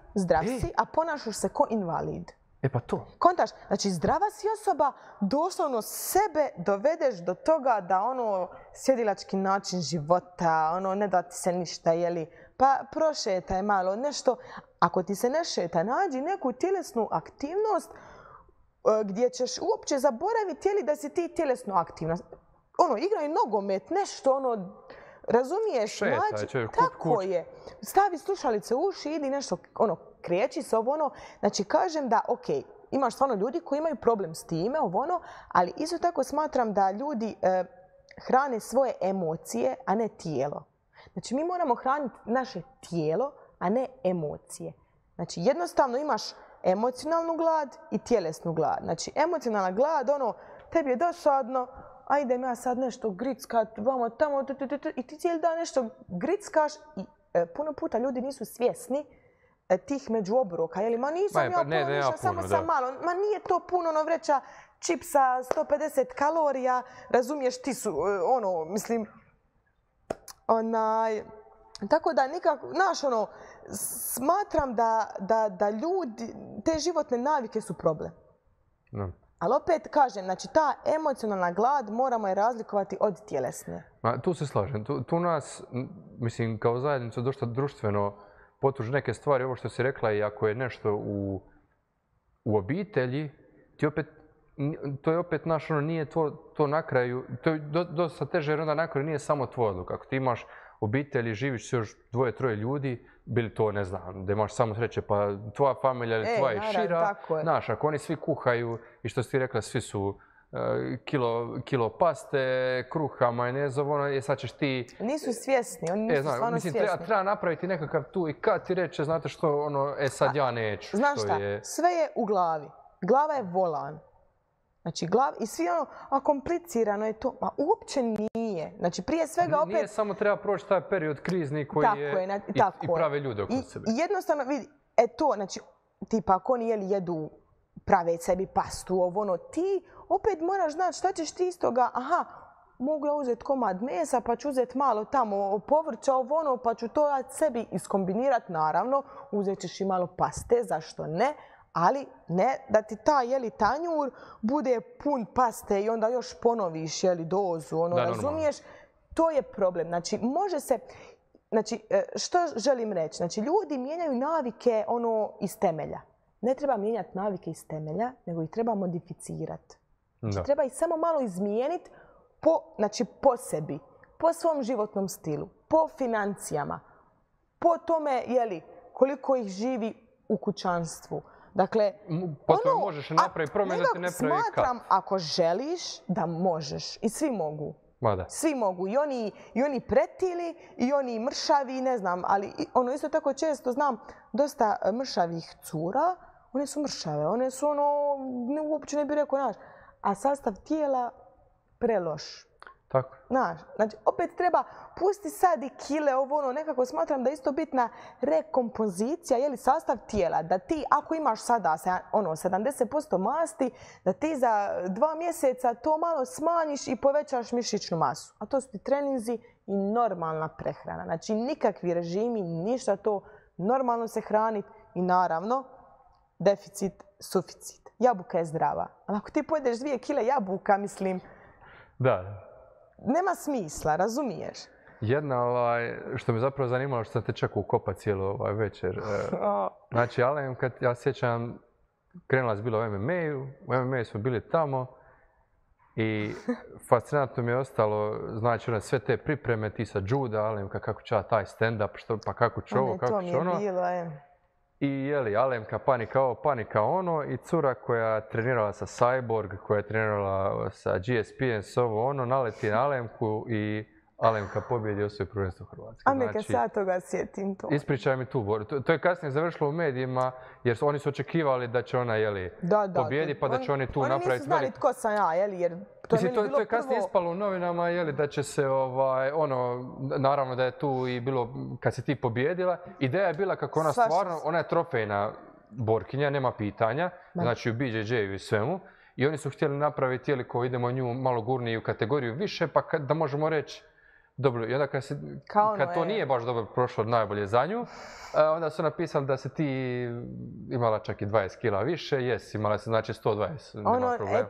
a ponašaš se ko invalid. Pa to. Kontaš, znači zdrava si osoba, doslovno sebe dovedeš do toga da sjedilački način života, ne da ti se ništa, pa prošetaj malo, nešto. Ako ti se ne šeta, nađi neku tjelesnu aktivnost gdje ćeš uopće zaboraviti da si ti tjelesno aktivna. Igraj nogomet, nešto, razumiješ? Tako je. Stavi slušalice u uši, idi nešto, kreći se, Znači, kažem da, ok, imaš stvarno ljudi koji imaju problem s time, ali isto tako smatram da ljudi hrane svoje emocije, a ne tijelo. Znači, mi moramo hraniti naše tijelo, a ne emocije. Znači, jednostavno imaš emocionalnu glad i tjelesnu glad. Znači, emocionalna glad, tebi je dosadno, a idem ja sad nešto grickat, vamo tamo, i ti cijeli dan nešto grickaš i puno puta ljudi nisu svjesni tih međuobroka. Ma nisam ja puno ništa, samo sam malo. Ma nije to puno, vreća čipsa 150 kalorija, razumiješ, ti su, mislim, tako da nikako, smatram da ljudi, te životne navike su problem. No. Ali opet kažem, znači ta emocionalna glad moramo je razlikovati od tjelesne. Tu se slažem. Tu nas, mislim, kao zajednicu dosta društveno potuži neke stvari. Ovo što si rekla, i ako je nešto u obitelji, to je opet nije to na kraju, to je dosta teže jer onda na kraju nije samo tvoj odluka. Ako ti imaš obitelji, živiš se još 2-3 ljudi, bili to, ne znam, da imaš samo sreće, pa tvoja familija ili tvoja šira, znaš, ako oni svi kuhaju i što si ti rekla, svi su kilo paste, kruha, majonezovo, sad ćeš ti... Nisu svjesni, oni nisu stvarno svjesni. Treba napraviti nekakav tu i kad ti reče, znate što, sad ja neću. Znaš šta, sve je u glavi. Glava je volan. Znači, i svi a komplicirano je to, ma uopće nije. Znači, prije svega opet... Nije samo treba proći taj period krizni koji je i prave ljude oko sebe. I jednostavno, vidi, znači, tipa, ako oni jedu, prave sebi pastu, ti opet moraš znati šta ćeš ti iz toga, mogu ja uzeti komad mesa, pa ću uzeti malo tamo povrća, pa ću to sebi iskombinirati, naravno, uzet ćeš i malo paste, zašto ne? Ali ne da ti taj tanjur bude pun paste i onda još ponoviš dozu, razumiješ? To je problem. Znači, može se... Znači, što želim reći? Znači, ljudi mijenjaju navike iz temelja. Ne treba mijenjati navike iz temelja, nego ih treba modificirati. Znači, treba ih samo malo izmijeniti po sebi, po svom životnom stilu, po financijama, po tome koliko ih živi u kućanstvu. Dakle, možeš napraviti promjenu da ti ne pravi kap. Smatram, ako želiš, da možeš. I svi mogu. Svi mogu. I oni pretili, i oni mršavi, ne znam. Ali isto tako često znam dosta mršavih cura. One su mršave. One su uopće ne bih rekao, znaš. A sastav tijela preloš. Tako. Znaš, znači opet treba pusti sad i kile, nekako smatram da je isto bitna rekompozicija, sastav tijela. Da ti, ako imaš sada 70% masti, da ti za 2 mjeseca to malo smanjiš i povećaš mišićnu masu. A to su ti treninzi i normalna prehrana. Znači nikakvi režimi, ništa to, normalno se hraniti i naravno deficit, suficit. Jabuka je zdrava. Ali ako ti pojedeš 2 kile jabuka, mislim... Da. Nema smisla, razumiješ? Jedna, što me zapravo zanimalo, što sam te čak ukopa cijelu večer. Znači, kad ja sjećam, krenula je bila u MMA-u, u MMA-u smo bili tamo i fascinantno mi je ostalo, znači, sve te pripreme, ti sa juda, Alemka, kako će taj stand-up, pa kako će ovo, kako će ono. I Alemka panika ovo, panika ono i cura koja je trenirala sa Cyborg, koja je trenirala sa GSP, naleti na Alemku i Alemka pobjedi i osvoji prvenstvo Hrvatske. A neka sad toga sjetim to. Ispričaj mi tu, Bor. To je kasnije završilo u medijima jer oni su očekivali da će ona pobjedi pa da će oni tu napraviti... Oni nisu znali tko sam ja, jer to je meni bilo prvo... To je kasnije ispalo u novinama da će se, naravno da je tu i bilo kad si ti pobjedila. Ideja je bila kako ona stvarno, ona je trofejna borkinja, nema pitanja, znači u BJJ-u i svemu. I oni su htjeli napraviti, ko idemo nju malo gurniju kategoriju više, pa da možemo reći dobro, i onda kad to nije baš dobro prošlo najbolje za nju, onda su napisali da si ti imala čak i 20 kila više, imala si znači 120, nema problema.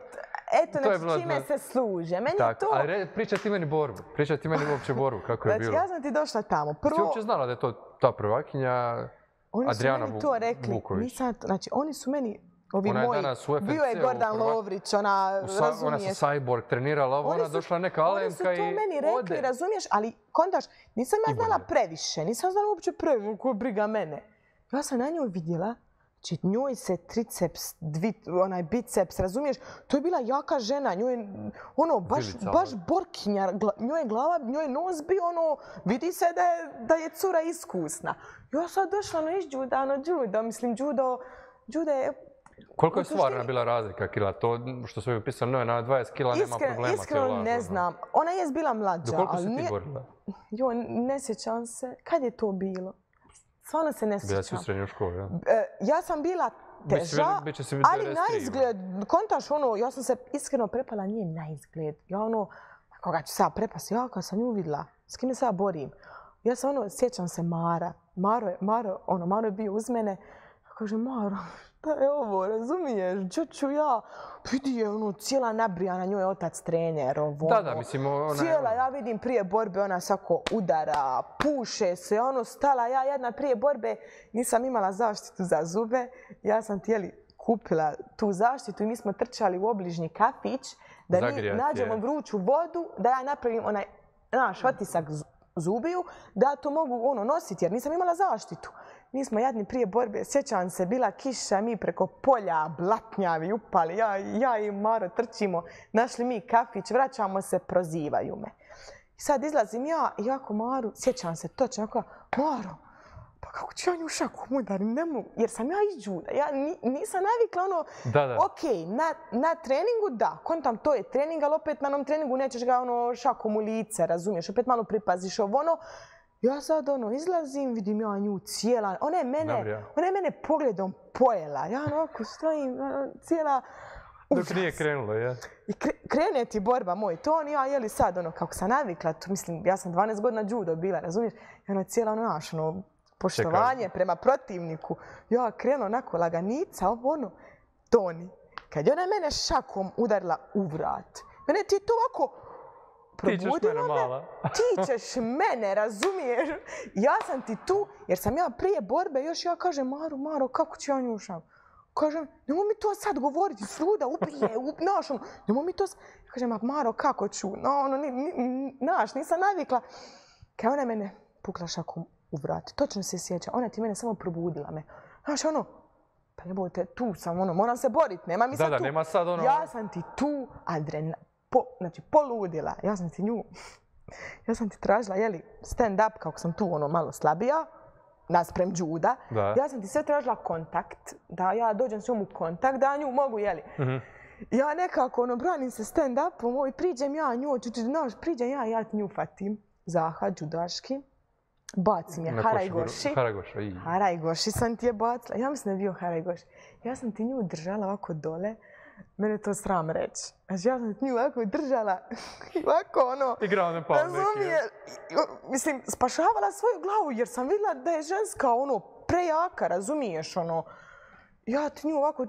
Eto, znači čime se služe. Meni je to... Ali pričaj ti meni borbu, pričaj ti meni uopće borbu, kako je bilo. Znači, ja sam ti došla tamo. Prvo... Ti uopće znala da je to ta prvakinja Adriana Vuković? Oni su meni to rekli. Znači, oni su meni... Bio je Gordan Lovrić, razumiješ. Ona sa Cyborg trenirala ovo, ona došla neka Alemka i ode. Oni su to meni rekli, razumiješ, ali kontaš, nisam ja znala previše, nisam znala uopće previše, koja briga mene. Ja sam na njoj vidjela, znači njoj se triceps, biceps, razumiješ, to je bila jaka žena, njoj je, baš borkinja, njoj je glava, njoj je nos bio, vidi se da je cura iskusna. Ja sam došla iz juda, mislim, judo je... Koliko je stvarna bila razlika kila? To što su joj pisali, na 20 kila nema problema. Iskreno ne znam. Ona je bila mlađa. Do koliko si ti borila? Ne sjećam se. Kad je to bilo? Stvarno se ne sjećam. Bila si u srednjoj školi, ja? Ja sam bila teža, ali na izgled, kontaš ono, ja sam se iskreno prepala njen na izgled. Ja ono, koga ću sad prepasti, ja kad sam nju vidjela, s kime se ja borim. Ja sam ono, sjećam se Mara. Maro je bio uz mene. Kaže, Maro, šta je ovo, razumiješ? Čuću ja, vidi je ono, cijela nabrijana, njoj je otac trener. Da, mislim, ona... Cijela, ja vidim prije borbe, ona svako udara, puše se, ono, stala. Ja jedna prije borbe nisam imala zaštitu za zube. Ja sam kupila tu zaštitu i mi smo trčali u obližnji kafić da nađemo vruću vodu, da ja napravim onaj naš otisak zubiju, da to mogu nositi jer nisam imala zaštitu. Mi smo jadni prije borbe, sjećam se, bila kiša, mi preko polja, blatnjavi, upali, ja i Maro trčimo, našli mi kafić, vraćamo se, prozivaju me. I sad izlazim ja i jako Maru, sjećam se točno, Maro, pa kako ću ja nju šakom udarim, ne mogu, jer sam ja iz juda, ja nisam navikla okej, na treningu da, kontam to je trening, ali opet na onom treningu nećeš ga šakom u lice, razumiješ, opet malo pripaziš ja sad izlazim, vidim ja nju cijela, ona je mene pogledom pojela, ja onako stojim cijela... Dok nije krenulo, ja. I krene ti borba moj ton, ja jeli sad kako sam navikla, mislim, ja sam 12 godina judo bila, razumiješ, i ona cijela poštovanje prema protivniku. Ja krenu onako laganica, Toni. Kad je ona mene šakom udarila u vrat, mene ti to ovako probudila me. Ti ćeš mene, razumiješ? Ja sam ti tu, jer sam ja prije borbe, još ja kažem, Maro, kako ću ja nju šakom? Kažem, nemoj mi to sad govoriti, sluda, ubije, nemoj mi to sad. Kažem, Maro, kako ću? Nisam navikla. Kad ona mene pukla šakom u vrat, točno se sjeća, ona ti mene samo probudila me. Pa jebote, tu sam, moram se boriti, nema mi sad tu. Nema sad Ja sam ti tu, znači poludila, ja sam ti tražila, stand-up, kako sam tu malo slabija, nasprem juda. Ja sam ti sve tražila kontakt, da ja dođem s njom u kontakt, da nju mogu, Ja nekako, branim se stand-upom, priđem ja nju, priđem ja ti nju fatim, Zaha, judaški. Bacim je Harajgoši sam ti je bacila. Ja mislim da je bio Harajgoši. Ja sam ti nju držala ovako dole. Mene to sram reći. Znači ja sam ti nju ovako držala. Ovako igrao ne pao neki. Mislim, spašavala svoju glavu jer sam vidjela da je ženska prejaka, razumiješ Ja ti nju ovako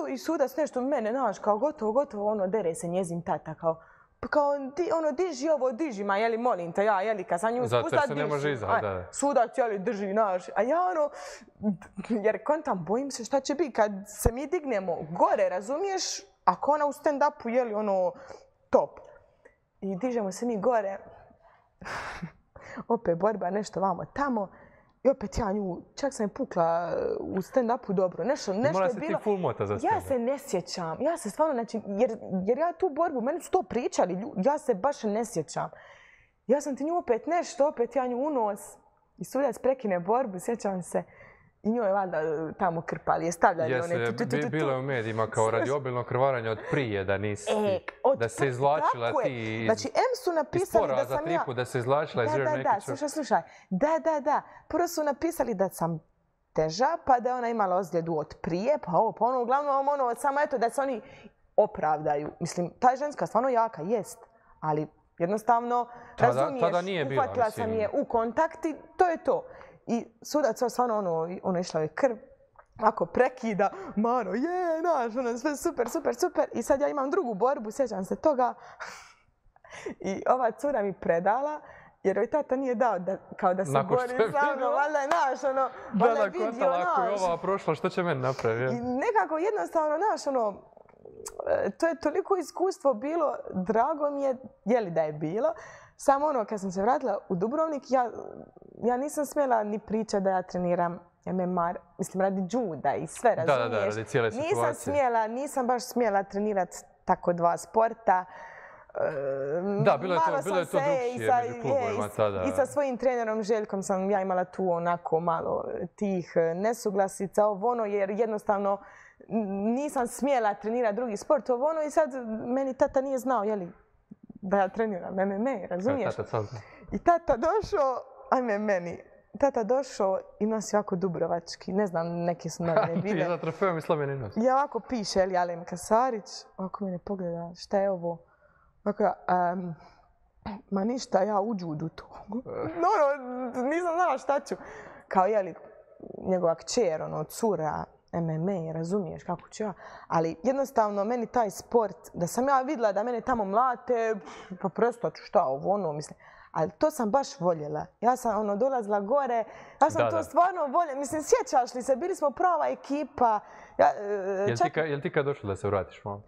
i sudac nešto mene, kao gotovo, dere se njezin tata, kao diži ovo, diži, molim te, kad sam nju spustila, diži. Zato se ne može izaći, da. Sudac, drži, a ja jer kontam, bojim se šta će biti kad se mi dignemo gore, razumiješ, ako ona u stand-upu, top. I dižemo se mi gore, opet borba, nešto vamo tamo, i opet ja nju, čak sam je pukla u stand-upu dobro, nešto je bilo. Mora se ti full mota za stand-up. Ja se ne sjećam, ja se stvarno, znači, jer ja tu borbu, meni su to pričali, ja se baš ne sjećam. Ja sam ti nju opet nešto, opet ja nju unos i sudac prekine borbu, sjećam se. I njoj je valjda tamo krpali, je stavljali one... Jeste, bilo je u medijima kao radi obilnog krvaranja od prije, da nisi... Da se izvlačila ti znači, su napisali da sam ja... da se izvlačila iz neki slušaj. Da. Prvo su napisali da sam teža, pa da je ona imala ozljedu od prije, pa uglavnom samo eto da se oni opravdaju. Mislim, ta je ženska stvarno jaka, jest, ali jednostavno, razumiješ, uhvatila sam je u kontakt i to je to. I sudac stvarno išla je krv, ako prekida, Maro, sve super. I sad ja imam drugu borbu, sjećam se toga. I ova cura mi predala, jer joj tata nije dao kao da se bori sa mnom, valjda je valjda je vidio, ako je ova prošla, što će meni napraviti? I nekako jednostavno, to je toliko iskustvo bilo, drago mi je li da je bilo. Samo kad sam se vratila u Dubrovnik, ja nisam smjela ni pričati da ja treniram MMA, mislim radi juda i sve, razumiješ? Da, radi cijele situacije. Nisam baš smjela trenirati tako dva sporta. Da, bilo je to drugčije među klubovima tada. I sa svojim trenerom Željkom sam ja imala tu onako malo tih nesuglasica, jer jednostavno nisam smjela trenirati drugi sport, i sad meni tata nije znao, da ja treniram MMA, razumiješ? I tata došao, ajme meni, tata došao i nosi ovako dubrovački, ne znam, neke su novine bile. Ti za trofejom i slomljeni nos. Ja ovako piše, Alemka Kasarić, ovako mene pogleda, šta je ovo? Ovako ja, ma ništa, ja u judu to. Nisam znala šta ću. Kao, njegova kćer, cura, MMA, razumiješ kako ću ja. Ali jednostavno, meni taj sport, da sam ja vidjela da mene tamo mlate, pa prestaću šta ovo, mislim. Ali to sam baš voljela. Ja sam dolazila gore, ja sam to stvarno voljela. Mislim, sjećaš li se, bili smo prava ekipa. Jel ti kad došlo da se vratiš malo?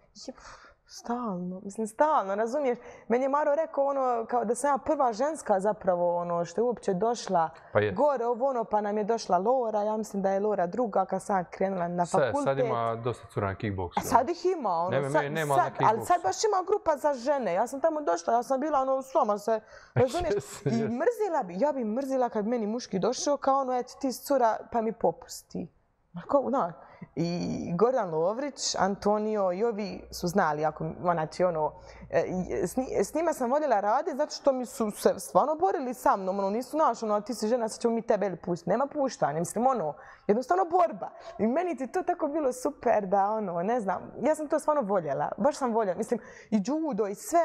Stalno, razumiješ? Meni je Maro rekao kao da sam ja prva ženska zapravo što je uopće došla gore, pa nam je došla Lora, ja mislim da je Lora druga kad sam krenula na fakultet. Sad ima dosta cura na kickboksu. A sad ih ima, nema na kickboksu. Ali sad baš ima grupa za žene. Ja sam tamo došla, ja sam bila sloma se, razumiješ? I ja bi mrzila kad bi meni muški došao kao eto ti cura pa mi popusti. I Gordan Lovrić, Antonio i ovi su znali, s njima sam voljela raditi zato što mi su se stvarno borili sa mnom, nisu ti si žena, sad ćemo mi tebe pustiti, nema puštanja, mislim, jednostavno borba. I meni ti to tako bilo super da, ne znam, ja sam to stvarno voljela, baš sam voljela, mislim, i judo i sve,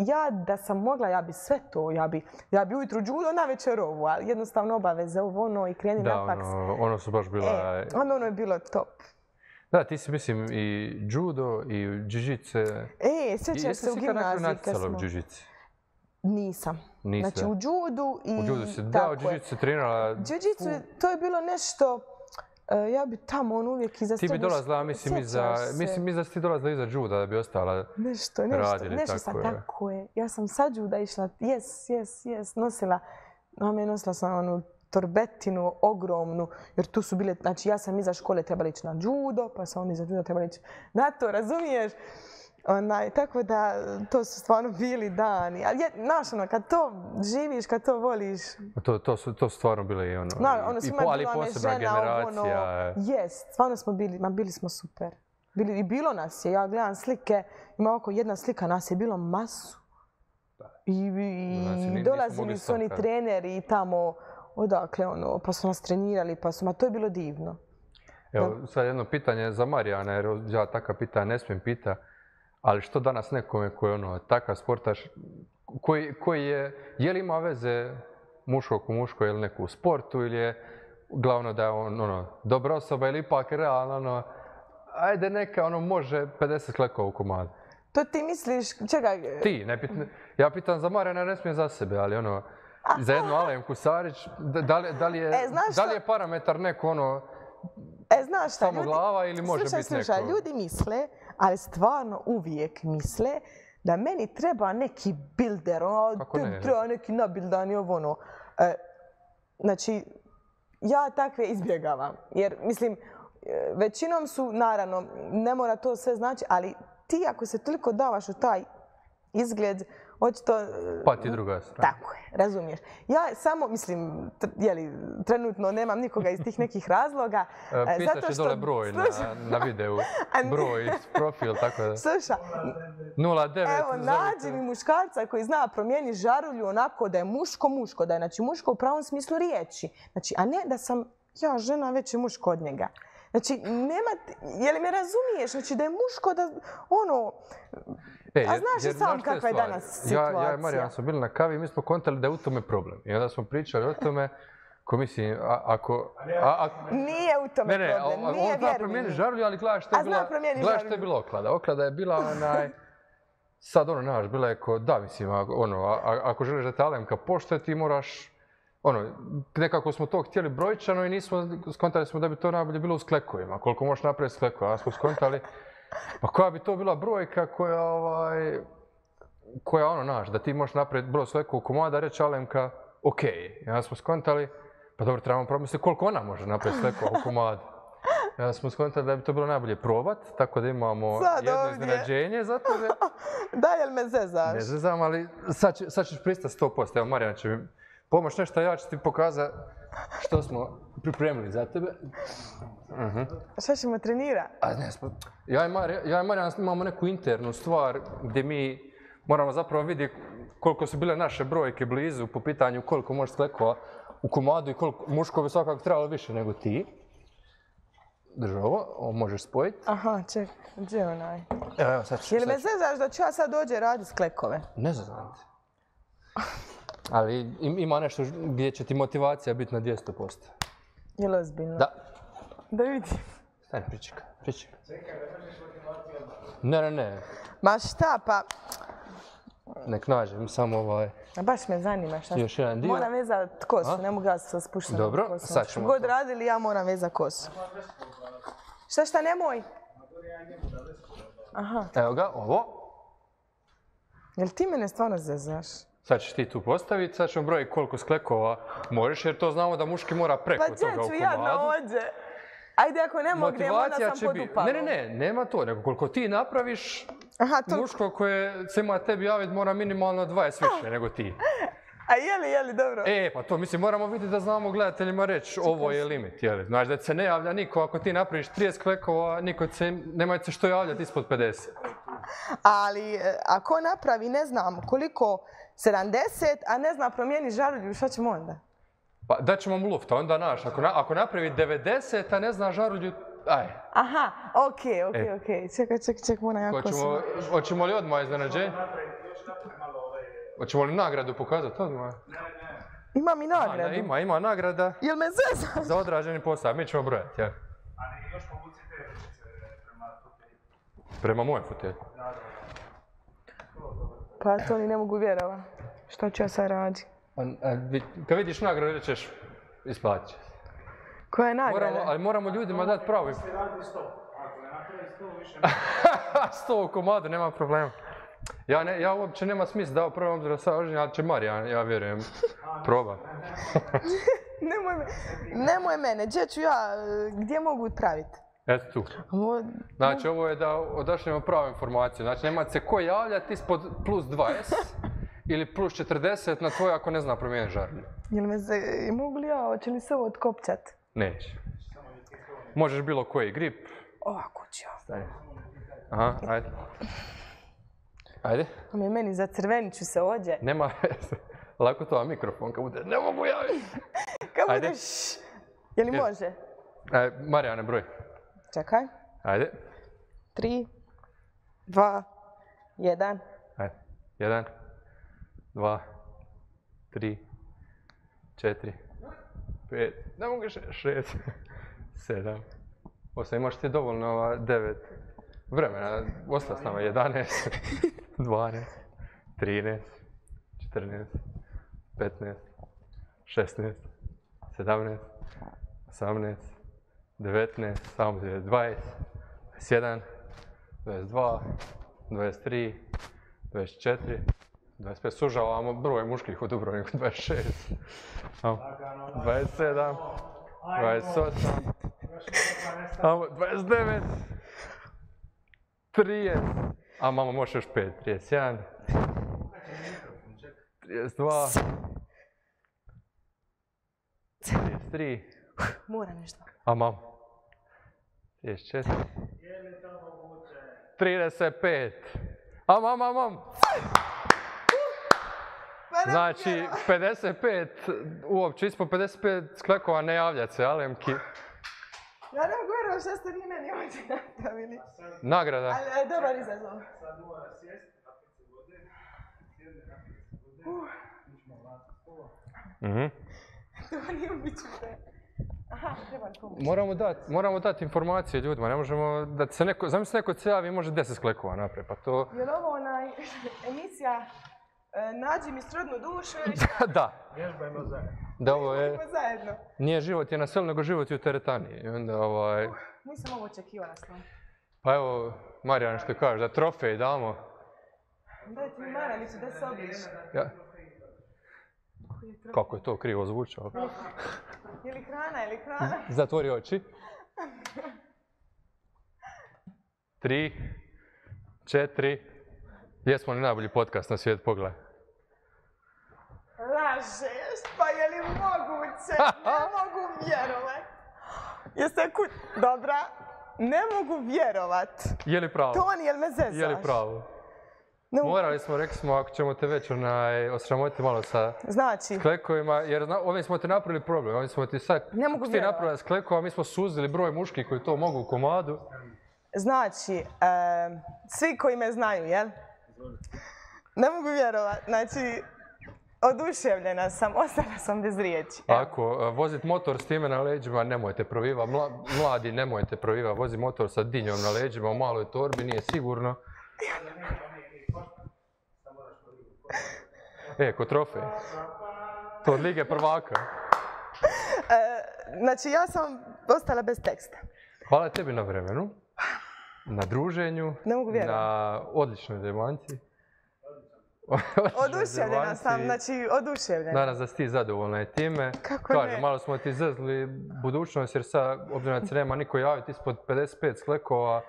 ja da sam mogla, ja bi sve to, ja bi ujutru judo, navečer ovo, ali jednostavno obaveze ovo, i kreni na faks. Da, ono su baš bila... Ono je bilo top. Da, ti si, mislim, i judo, i jiu-jitsu. Sjećaš se u gimnaziji kad smo... Nisam. Znači, u judu i... U judu si, da, u jiu-jitsu si trenirala... Jiu-jitsu, to je bilo nešto... Ja bi tamo uvijek iza sebe... Ti bi dolazila, mislim da si ti dolazila iza juda da bi ostala radili. Nešto sam, tako je. Ja sam sa juda išla, nosila sam torbetinu ogromnu, jer tu su bile, znači ja sam iza škole trebala ići na judo, pa sam onda iza judo trebala ići na to, razumiješ? Tako da, to su stvarno bili dani. Ali, znaš, kad to živiš, kad to voliš... To su stvarno bile i ali posebna generacija. Stvarno smo bili smo super. I bilo nas je, ja gledam slike, ima oko jedna slika, nas je bilo masu. I dolazili su oni treneri i tamo, odakle, pa su nas trenirali, to je bilo divno. Evo, sad jedno pitanje za Marijana, jer ja taka pitanja ne smijem pitati, ali što danas nekome koji je takav sportaš, koji je li ima veze muško ko muško ili neko u sportu, ili je glavno da je on dobra osoba ili ipak realno, ajde neka može 50 klekova u komadu. To ti misliš, čekaj... Ti, ja pitam za Marijana, ne smijem za sebe, ali za jednu Alemku Sarić, da li je parametar neko samo glava ili može biti neko... Slušaj, ljudi misle, ali stvarno uvijek misle da meni treba neki builder, treba neki nabildani ovo. Znači, ja takve izbjegavam, jer mislim, većinom su, naravno, ne mora to sve znači, ali ti ako se toliko davaš u taj izgled, očito... Pa ti druga strana. Tako je, razumiješ. Ja samo, mislim, trenutno nemam nikoga iz tih nekih razloga. Pitaš je dole broj na videu, broj, profil, tako da... Sluša, 09... Evo, nađi mi muškarca koji zna promijeniti žarulju onako da je muško, da je znači muško u pravom smislu riječi. Znači, a ne da sam ja žena, već je muško od njega. Znači, je li me razumiješ? Znači, da je muško, da a znaš i sam kakva je danas situacija. Ja i Marijan smo bili na kavi i mi smo kontali da je u tome problem. I onda smo pričali o tome, ko mislim, ako... Nije u tome problem, nije vjerujem. On zna promijeniti žarulju, ali gledaš što je bila oklada. Oklada je bila sad bila je ko, da mislim, ako želiš da te Alemka poštuje, ti moraš... nekako smo to htjeli brojčano i skontali smo da bi to najbolje bilo u sklekovima. Koliko možeš napraviti s klekovima. Smo skontali, pa koja bi to bila brojka koja naš, da ti možeš napraviti broj skleku u komada, reći Alemka, okej. I onda smo skontali, pa dobro, trebamo promisliti koliko ona može napraviti skleku u komadu. I onda smo skontali da bi to bilo najbolje probat, tako da imamo jedno iznenađenje za tebe. Da, jel me zezaš? Ne zezam, ali sad ćeš pristati 100%. Evo, Marijana će mi pomoć nešto, ja ću ti pokazati što smo pripremili za tebe. Šta ćemo trenirati? Ja i Marijan imamo neku internu stvar gdje mi moramo zapravo vidjeti koliko su bile naše brojke blizu po pitanju koliko može sklekova u komadu i koliko muško bi svakako trebalo više nego ti. Drži ovo možeš spojiti. Aha, čekaj, gdje je onaj? Evo, sad ću. Jel me zezaš da ću ja sad dođe raditi sklekove? Ne znam. Ali ima nešto gdje će ti motivacija biti na 200%. Jel ozbiljno? Da. Da vidim. Stani, pričekaj. Čekaj, da možeš motivaciju? Ne. Ma šta, pa... Nek nađem, samo ovaj... Baš me zanima šta. Još jedan dio. Moram vezati kosu, ne mogu ja sa spuštenom kosom. Dobro, sad ćemo god radili, ja moram vezati kosu. Šta, nemoj? Aha. Evo ga, ovo. Jel ti mene stvarno zezaš? Sad ćeš ti tu postaviti, sad ćemo brojiti koliko sklekova možeš, jer to znamo da muški mora preko toga u komadu. Pa ću jadno ođe. Ajde, ako ne mognem, onda sam pod upalom. Ne, nema to, nego koliko ti napraviš, muško koje se ima tebi javiti mora minimalno 20 više nego ti. A jeli, dobro. Pa to mislim, moramo vidjeti da znamo gledateljima reći ovo je limit, jeli. Znači da se ne javlja niko, ako ti napraviš 30 klekova, nemaj se što javljati ispod 50. Ali ako napravi, ne znam koliko, 70, a ne znam promijeni žarulju, šta ćemo onda? Pa daćemo mu lufta, onda naš, ako napravi 90, a ne zna žarulju, aj. Aha, okej. Čekaj, moram jako se... Hoćemo li odmah iznenađenje? Hoćemo li nagradu pokazati odmah? Ne. Imam i nagradu. Ima nagrada. Jel me zezaš? Za odrađeni posao, mi ćemo brojati, ja. Ali još povuci te ručice prema fotelju. Prema mojem fotelju? Da. Pa to ni ne mogu vjerovati. Što ću ja sad raditi? Kad vidiš nagradu, rećeš, isplatit će. Koja je nagrada? Ali moramo ljudima dati pravo. Ako se radi 100. Ako ne napravi 100, više 100 u komadu, nema problema. Ja uopće nema smisla da prvo obzira sa oženje, ali će Marijan, ja vjerujem, proba. Nemoj mene, gdje ću ja, gdje mogu praviti? Eto tu. Znači ovo je da odašljemo pravu informaciju. Znači nema se ko javljati ispod plus 20 ili plus 40 na tvoj ako ne zna promijeniti žarulju. Mogu li ja, hoće li se ovo otkopčat? Neće. Možeš bilo koji grip. Ovako ću ja. Stani. Aha, ajde. Ajde. Meni za crvenit ću se ođe. Nema veze. Lako to, a mikrofon kad bude, ne mogu javiti. Kad budeš, je li može? Marijane, broj. Čekaj. Ajde. 3, 2, 1. Ajde. 1, 2, 3, 4, 5, ne mogu 6, 7, 8, imaš ti dovoljno 9 vremena, ostao s nama 11, 12, 13, 14, 15, 16, 17, 18, 19, samo 20, 21, 22, 23, 24, 25, sužavamo broj muških u Dubrovniku, 26, 27, 28, 29, 30, a mama može još 5, 31, 32, 33, Moram nešto. a mama, 34, 35, a mama, znači 55, uopće ispod 55 sklekova ne javljati se, Alemki. Ja ne mogu vjerovati što ste vi meni ovdje napravili. Nagrada. Ali dobar izazov. Sad mora sjesti, napiti se vode, sjedne, napiti se vode, ićemo vratiti pola. To nije ubičite. Aha, treba pomoći. Moramo dati informacije ljudima, ne možemo da se neko, zamisli neko se javi i može 10 sklekova napraviti, pa to... Je li ovo emisija Nađi mi srodnu dušu ili šta? Da. Vježbajmo zajedno. Da ovo je... Zajedno. Nije život je na selu, nego život je u teretani. I onda Nisam ovo očekivala s tom. Pa evo, Marijan što kaže, da trofej damo. Dajte mi maramicu da se obriše. Ja. Kako je to krivo zvučalo? Je li hrana? Zatvori oči. 3, 4. Jesmo li najbolji podcast na svijetu, pogledaj. Lažeš, pa je li moguće? Ne mogu vjerovat. Jeste dobra? Ne mogu vjerovat. Je li pravo? Toni, jel me zezaš? Je li pravo? Morali smo, rekli smo, ako ćemo te već osramotiti malo sa sklekovima, jer ovim smo ti napravili problem. Ovim smo ti sad, ako ti napravili sklekova, mi smo suzili broj muških koji to mogu u komadu. Znači, svi koji me znaju, jel? Ne mogu vjerovati. Znači, oduševljena sam, ostala sam bez riječi. Ako vozit motor s time na leđima, nemojte proviva. Mladi, nemojte proviva. Vozi motor sa dinjom na leđima u maloj torbi, nije sigurno. Ko trofej. To od Lige prvaka. Znači, ja sam ostala bez teksta. Hvala tebi na vremenu, na druženju, na odličnoj demanti. Oduševljena sam, znači oduševljena. Nadam se da si ti zadovoljna i time. Kako ne? Malo smo ti zezli budućnost jer sad, obzirom da se nema niko javiti ispod 55 sklekova.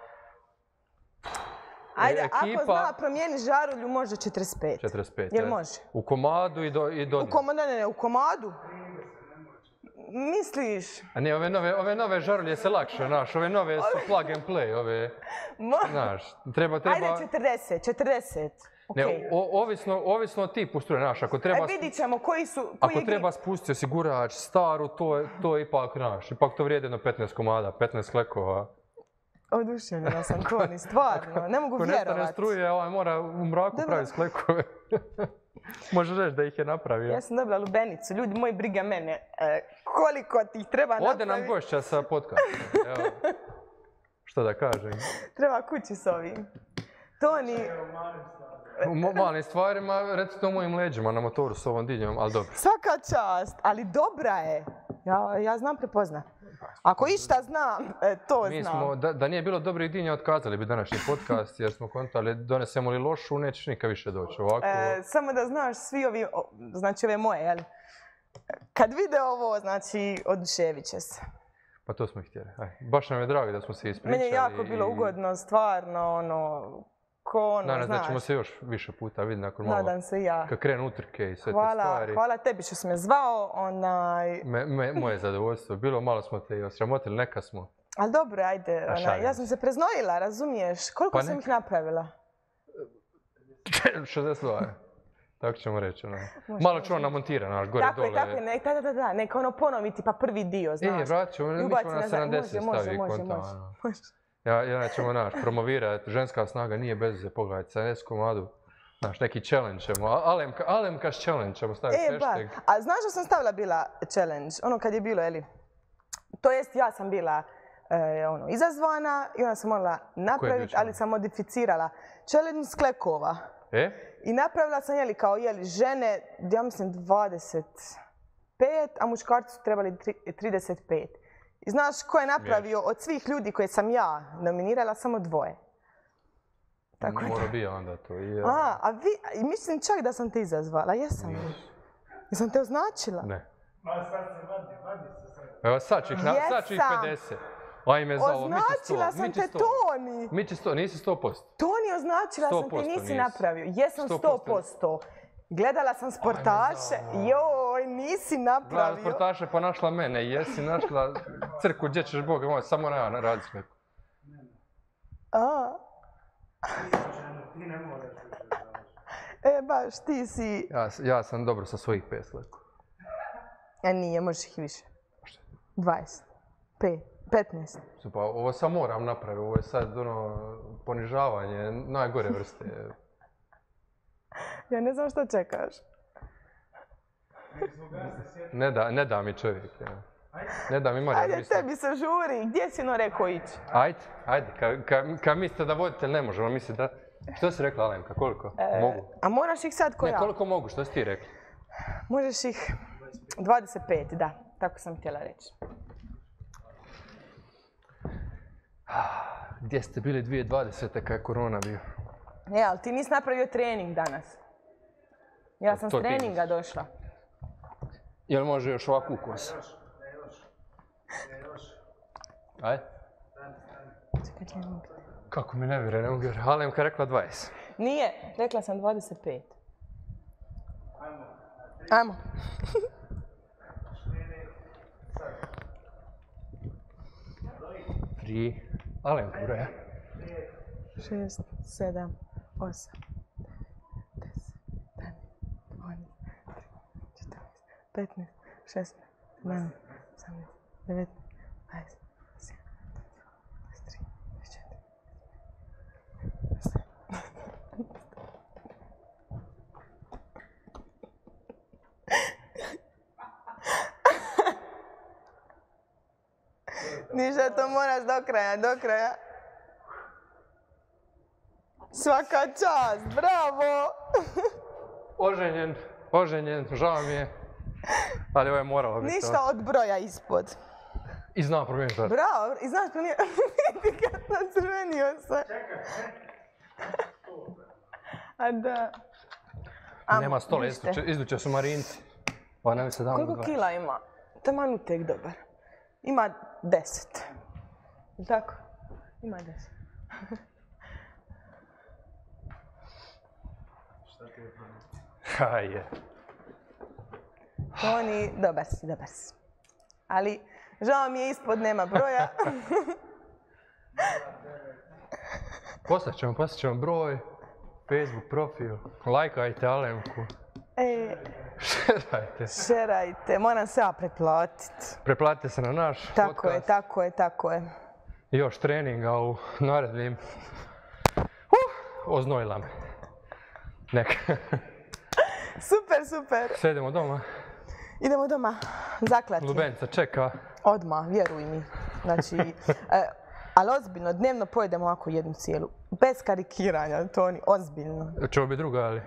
Ajde, ako zna promijeniti žarulju, može 45. 45, jel može? U komadu i do dna. Ne, u komadu. Misliš? A ne, ove nove žarulje se lakše, znaš, ove nove su plug and play, ove, znaš, treba... Ajde 40. Ne, ovisno od tipu struje, znaš, ako treba... vidit ćemo koji su... Ako treba spustiti osigurač staru, to je ipak, znaš, ipak to vrijedi jedno 15 komada, 15 sklekova. Oduševljena sam, Toni, stvarno, ne mogu vjerovati. Ako nestane struje, mora u mraku praviti sklekove. Može reći da ih je napravio. Ja sam dobila lubenicu, ljudi moji, briga mene. Koliko ti ih treba napraviti? Ode nam gošća sa podcastom. Evo, što da kažem. Treba kući s ovim. Toni... U malim stvarima, recite o mojim leđima na motoru s ovom dinjom, ali dobro. Svaka čast, ali dobra je. Ja znam prepoznat. Ako išta znam, to znam. Da nije bilo dobrih dinja, otkazali bi današnji podcast, jer smo kontali, donesemo li lošu, nećeš nikad više doći ovako. Samo da znaš, svi ovi, znači ove moje, jel? Kad vide ovo, znači, oduševit će se. Pa to smo ih htjeli. Baš nam je drago da smo se ispričali. Meni je jako bilo ugodno, stvarno, Nadam se da ćemo se još više puta vidjeti nakon malo. Nadam se i ja. Kad krenu utrke i sve te stvari. Hvala tebi što si me zvao. Moje zadovoljstvo. Bilo malo smo te i osramotili, neka smo. Ali dobro, ajde. Ja sam se preznojila, razumiješ? Koliko sam ih napravila? 62. Tako ćemo reći. Malo ću namontira, naš, gore dole. Tako je, neka ponoviti pa prvi dio, znaš. Vratit ćemo, mi ćemo na 70 stavi konta. Može. Ja ćemo, promovirati, ženska snaga nije bez veze, pogledajte, 70 komadu, neki challenge ćemo, Alemkaš challenge ćemo staviti hashtag. A znaš što sam stavila bila challenge, ono kad je bilo, jeli? To jest, ja sam bila izazvana i onda sam morala napraviti, ali sam modificirala challenge sklekova. I napravila sam, žene, ja mislim 25, a muškarci su trebali 35. I znaš ko je napravio od svih ljudi koje sam ja nominirala samo 2. Mora bi onda to. Mislim čak da sam te izazvala, jesam li? Jesam te označila? Ne. Sad se vadi se sad. Evo sad ću ih 50. Ajme za ovo, označila sam te, Toni! Mići 100, nisi 100%. Toni, označila sam te, nisi napravio. Jesam 100%. Gledala sam sportaše, joj, nisi napravio. Gledala sportaše pa našla mene, jesi našla crku, gdje ćeš Boga moj, samo ja radi sklepu. Ti ne moraš. Baš, ti si... Ja sam dobro sa svojih 5 sklepu. Nije, možeš ih više. 20, 5, 15. Pa ovo sam moram napraviti, ovo je sad ponižavanje najgore vrste. Ja ne znam što čekaš. Ne da mi čovjek. Ne da mi Marija. Ajde, tebi se žuri. Gdje si rekao ići? Ajde. Kad mislite da voditelj ne možemo, mislite da... Što si rekla, Alemka? Koliko? Mogu? A moraš ih sad ko ja? Ne, koliko mogu? Što si ti rekla? Možeš ih 25, da. Tako sam htjela reći. Gdje ste bili 2020. kad je korona bio? Ali ti nisi napravio trening danas. Ja sam s treninga došla. Jel može još ovako ukos? Ajde. Kako mi ne vjeruje, ne mogu vjeruje. Alemka je rekla 20. Nije, rekla sam 25. Ajmo. Alemka broja. 6, 7, 8, 15, 16, 17, 18, 19, 20, 21, 23, 24. Ništa, to moraš do kraja. Svaka čast, bravo! Oženjen, žao mi je. Ali ovo je moralo biti. Ništa od broja ispod. I znam promijeniti to. Bravo, i znaš promijeniti. Vidi kad nacrvenio se. A da. Nema stola, izduće su Marinci. Koliko kila ima? Taman utek dobar. Ima 10. Tako? Ima 10. Hajde. Toni, dobar si. Ali, žao mi je, ispod nema broja. Poslat ćemo broj, Facebook profil, lajkajte Alemku. Šerajte, moram se ja pretplatiti. Pretplatite se na naš podcast. Tako je. I još treninga u narednim. Oznojila me. Neka. Super. Sve idemo doma. Idemo doma, zaklati. Lubenica čeka. Odmah, vjeruj mi. Znači, ali ozbiljno, dnevno pojedemo ovako jednu cijelu. Bez karikiranja, Toni, ozbiljno. Čeo bi druga, ali?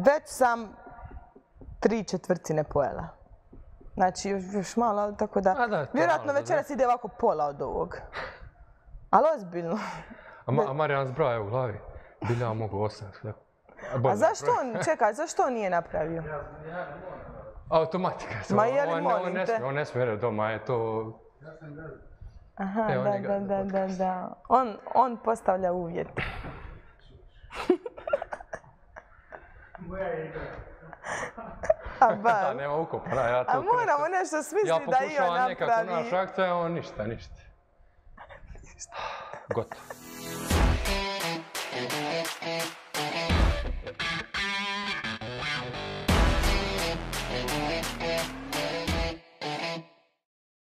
Već sam 3/4 pojela. Znači, još malo, tako da... Vjerojatno večeras ide ovako pola od ovog. Ali ozbiljno. A Marijan zbraja u glavi. Bilja ja mogu 8. A zašto on nije napravio? Automatika. Ma je li molim te? On ne smije jer doma je to... Aha, da. On postavlja uvjete. A bar. Nema ukopana, ja to krećem. A moramo nešto smisliti da i on napravi. Ja pokušavam nekako naš akcija, a on ništa. Gotovo.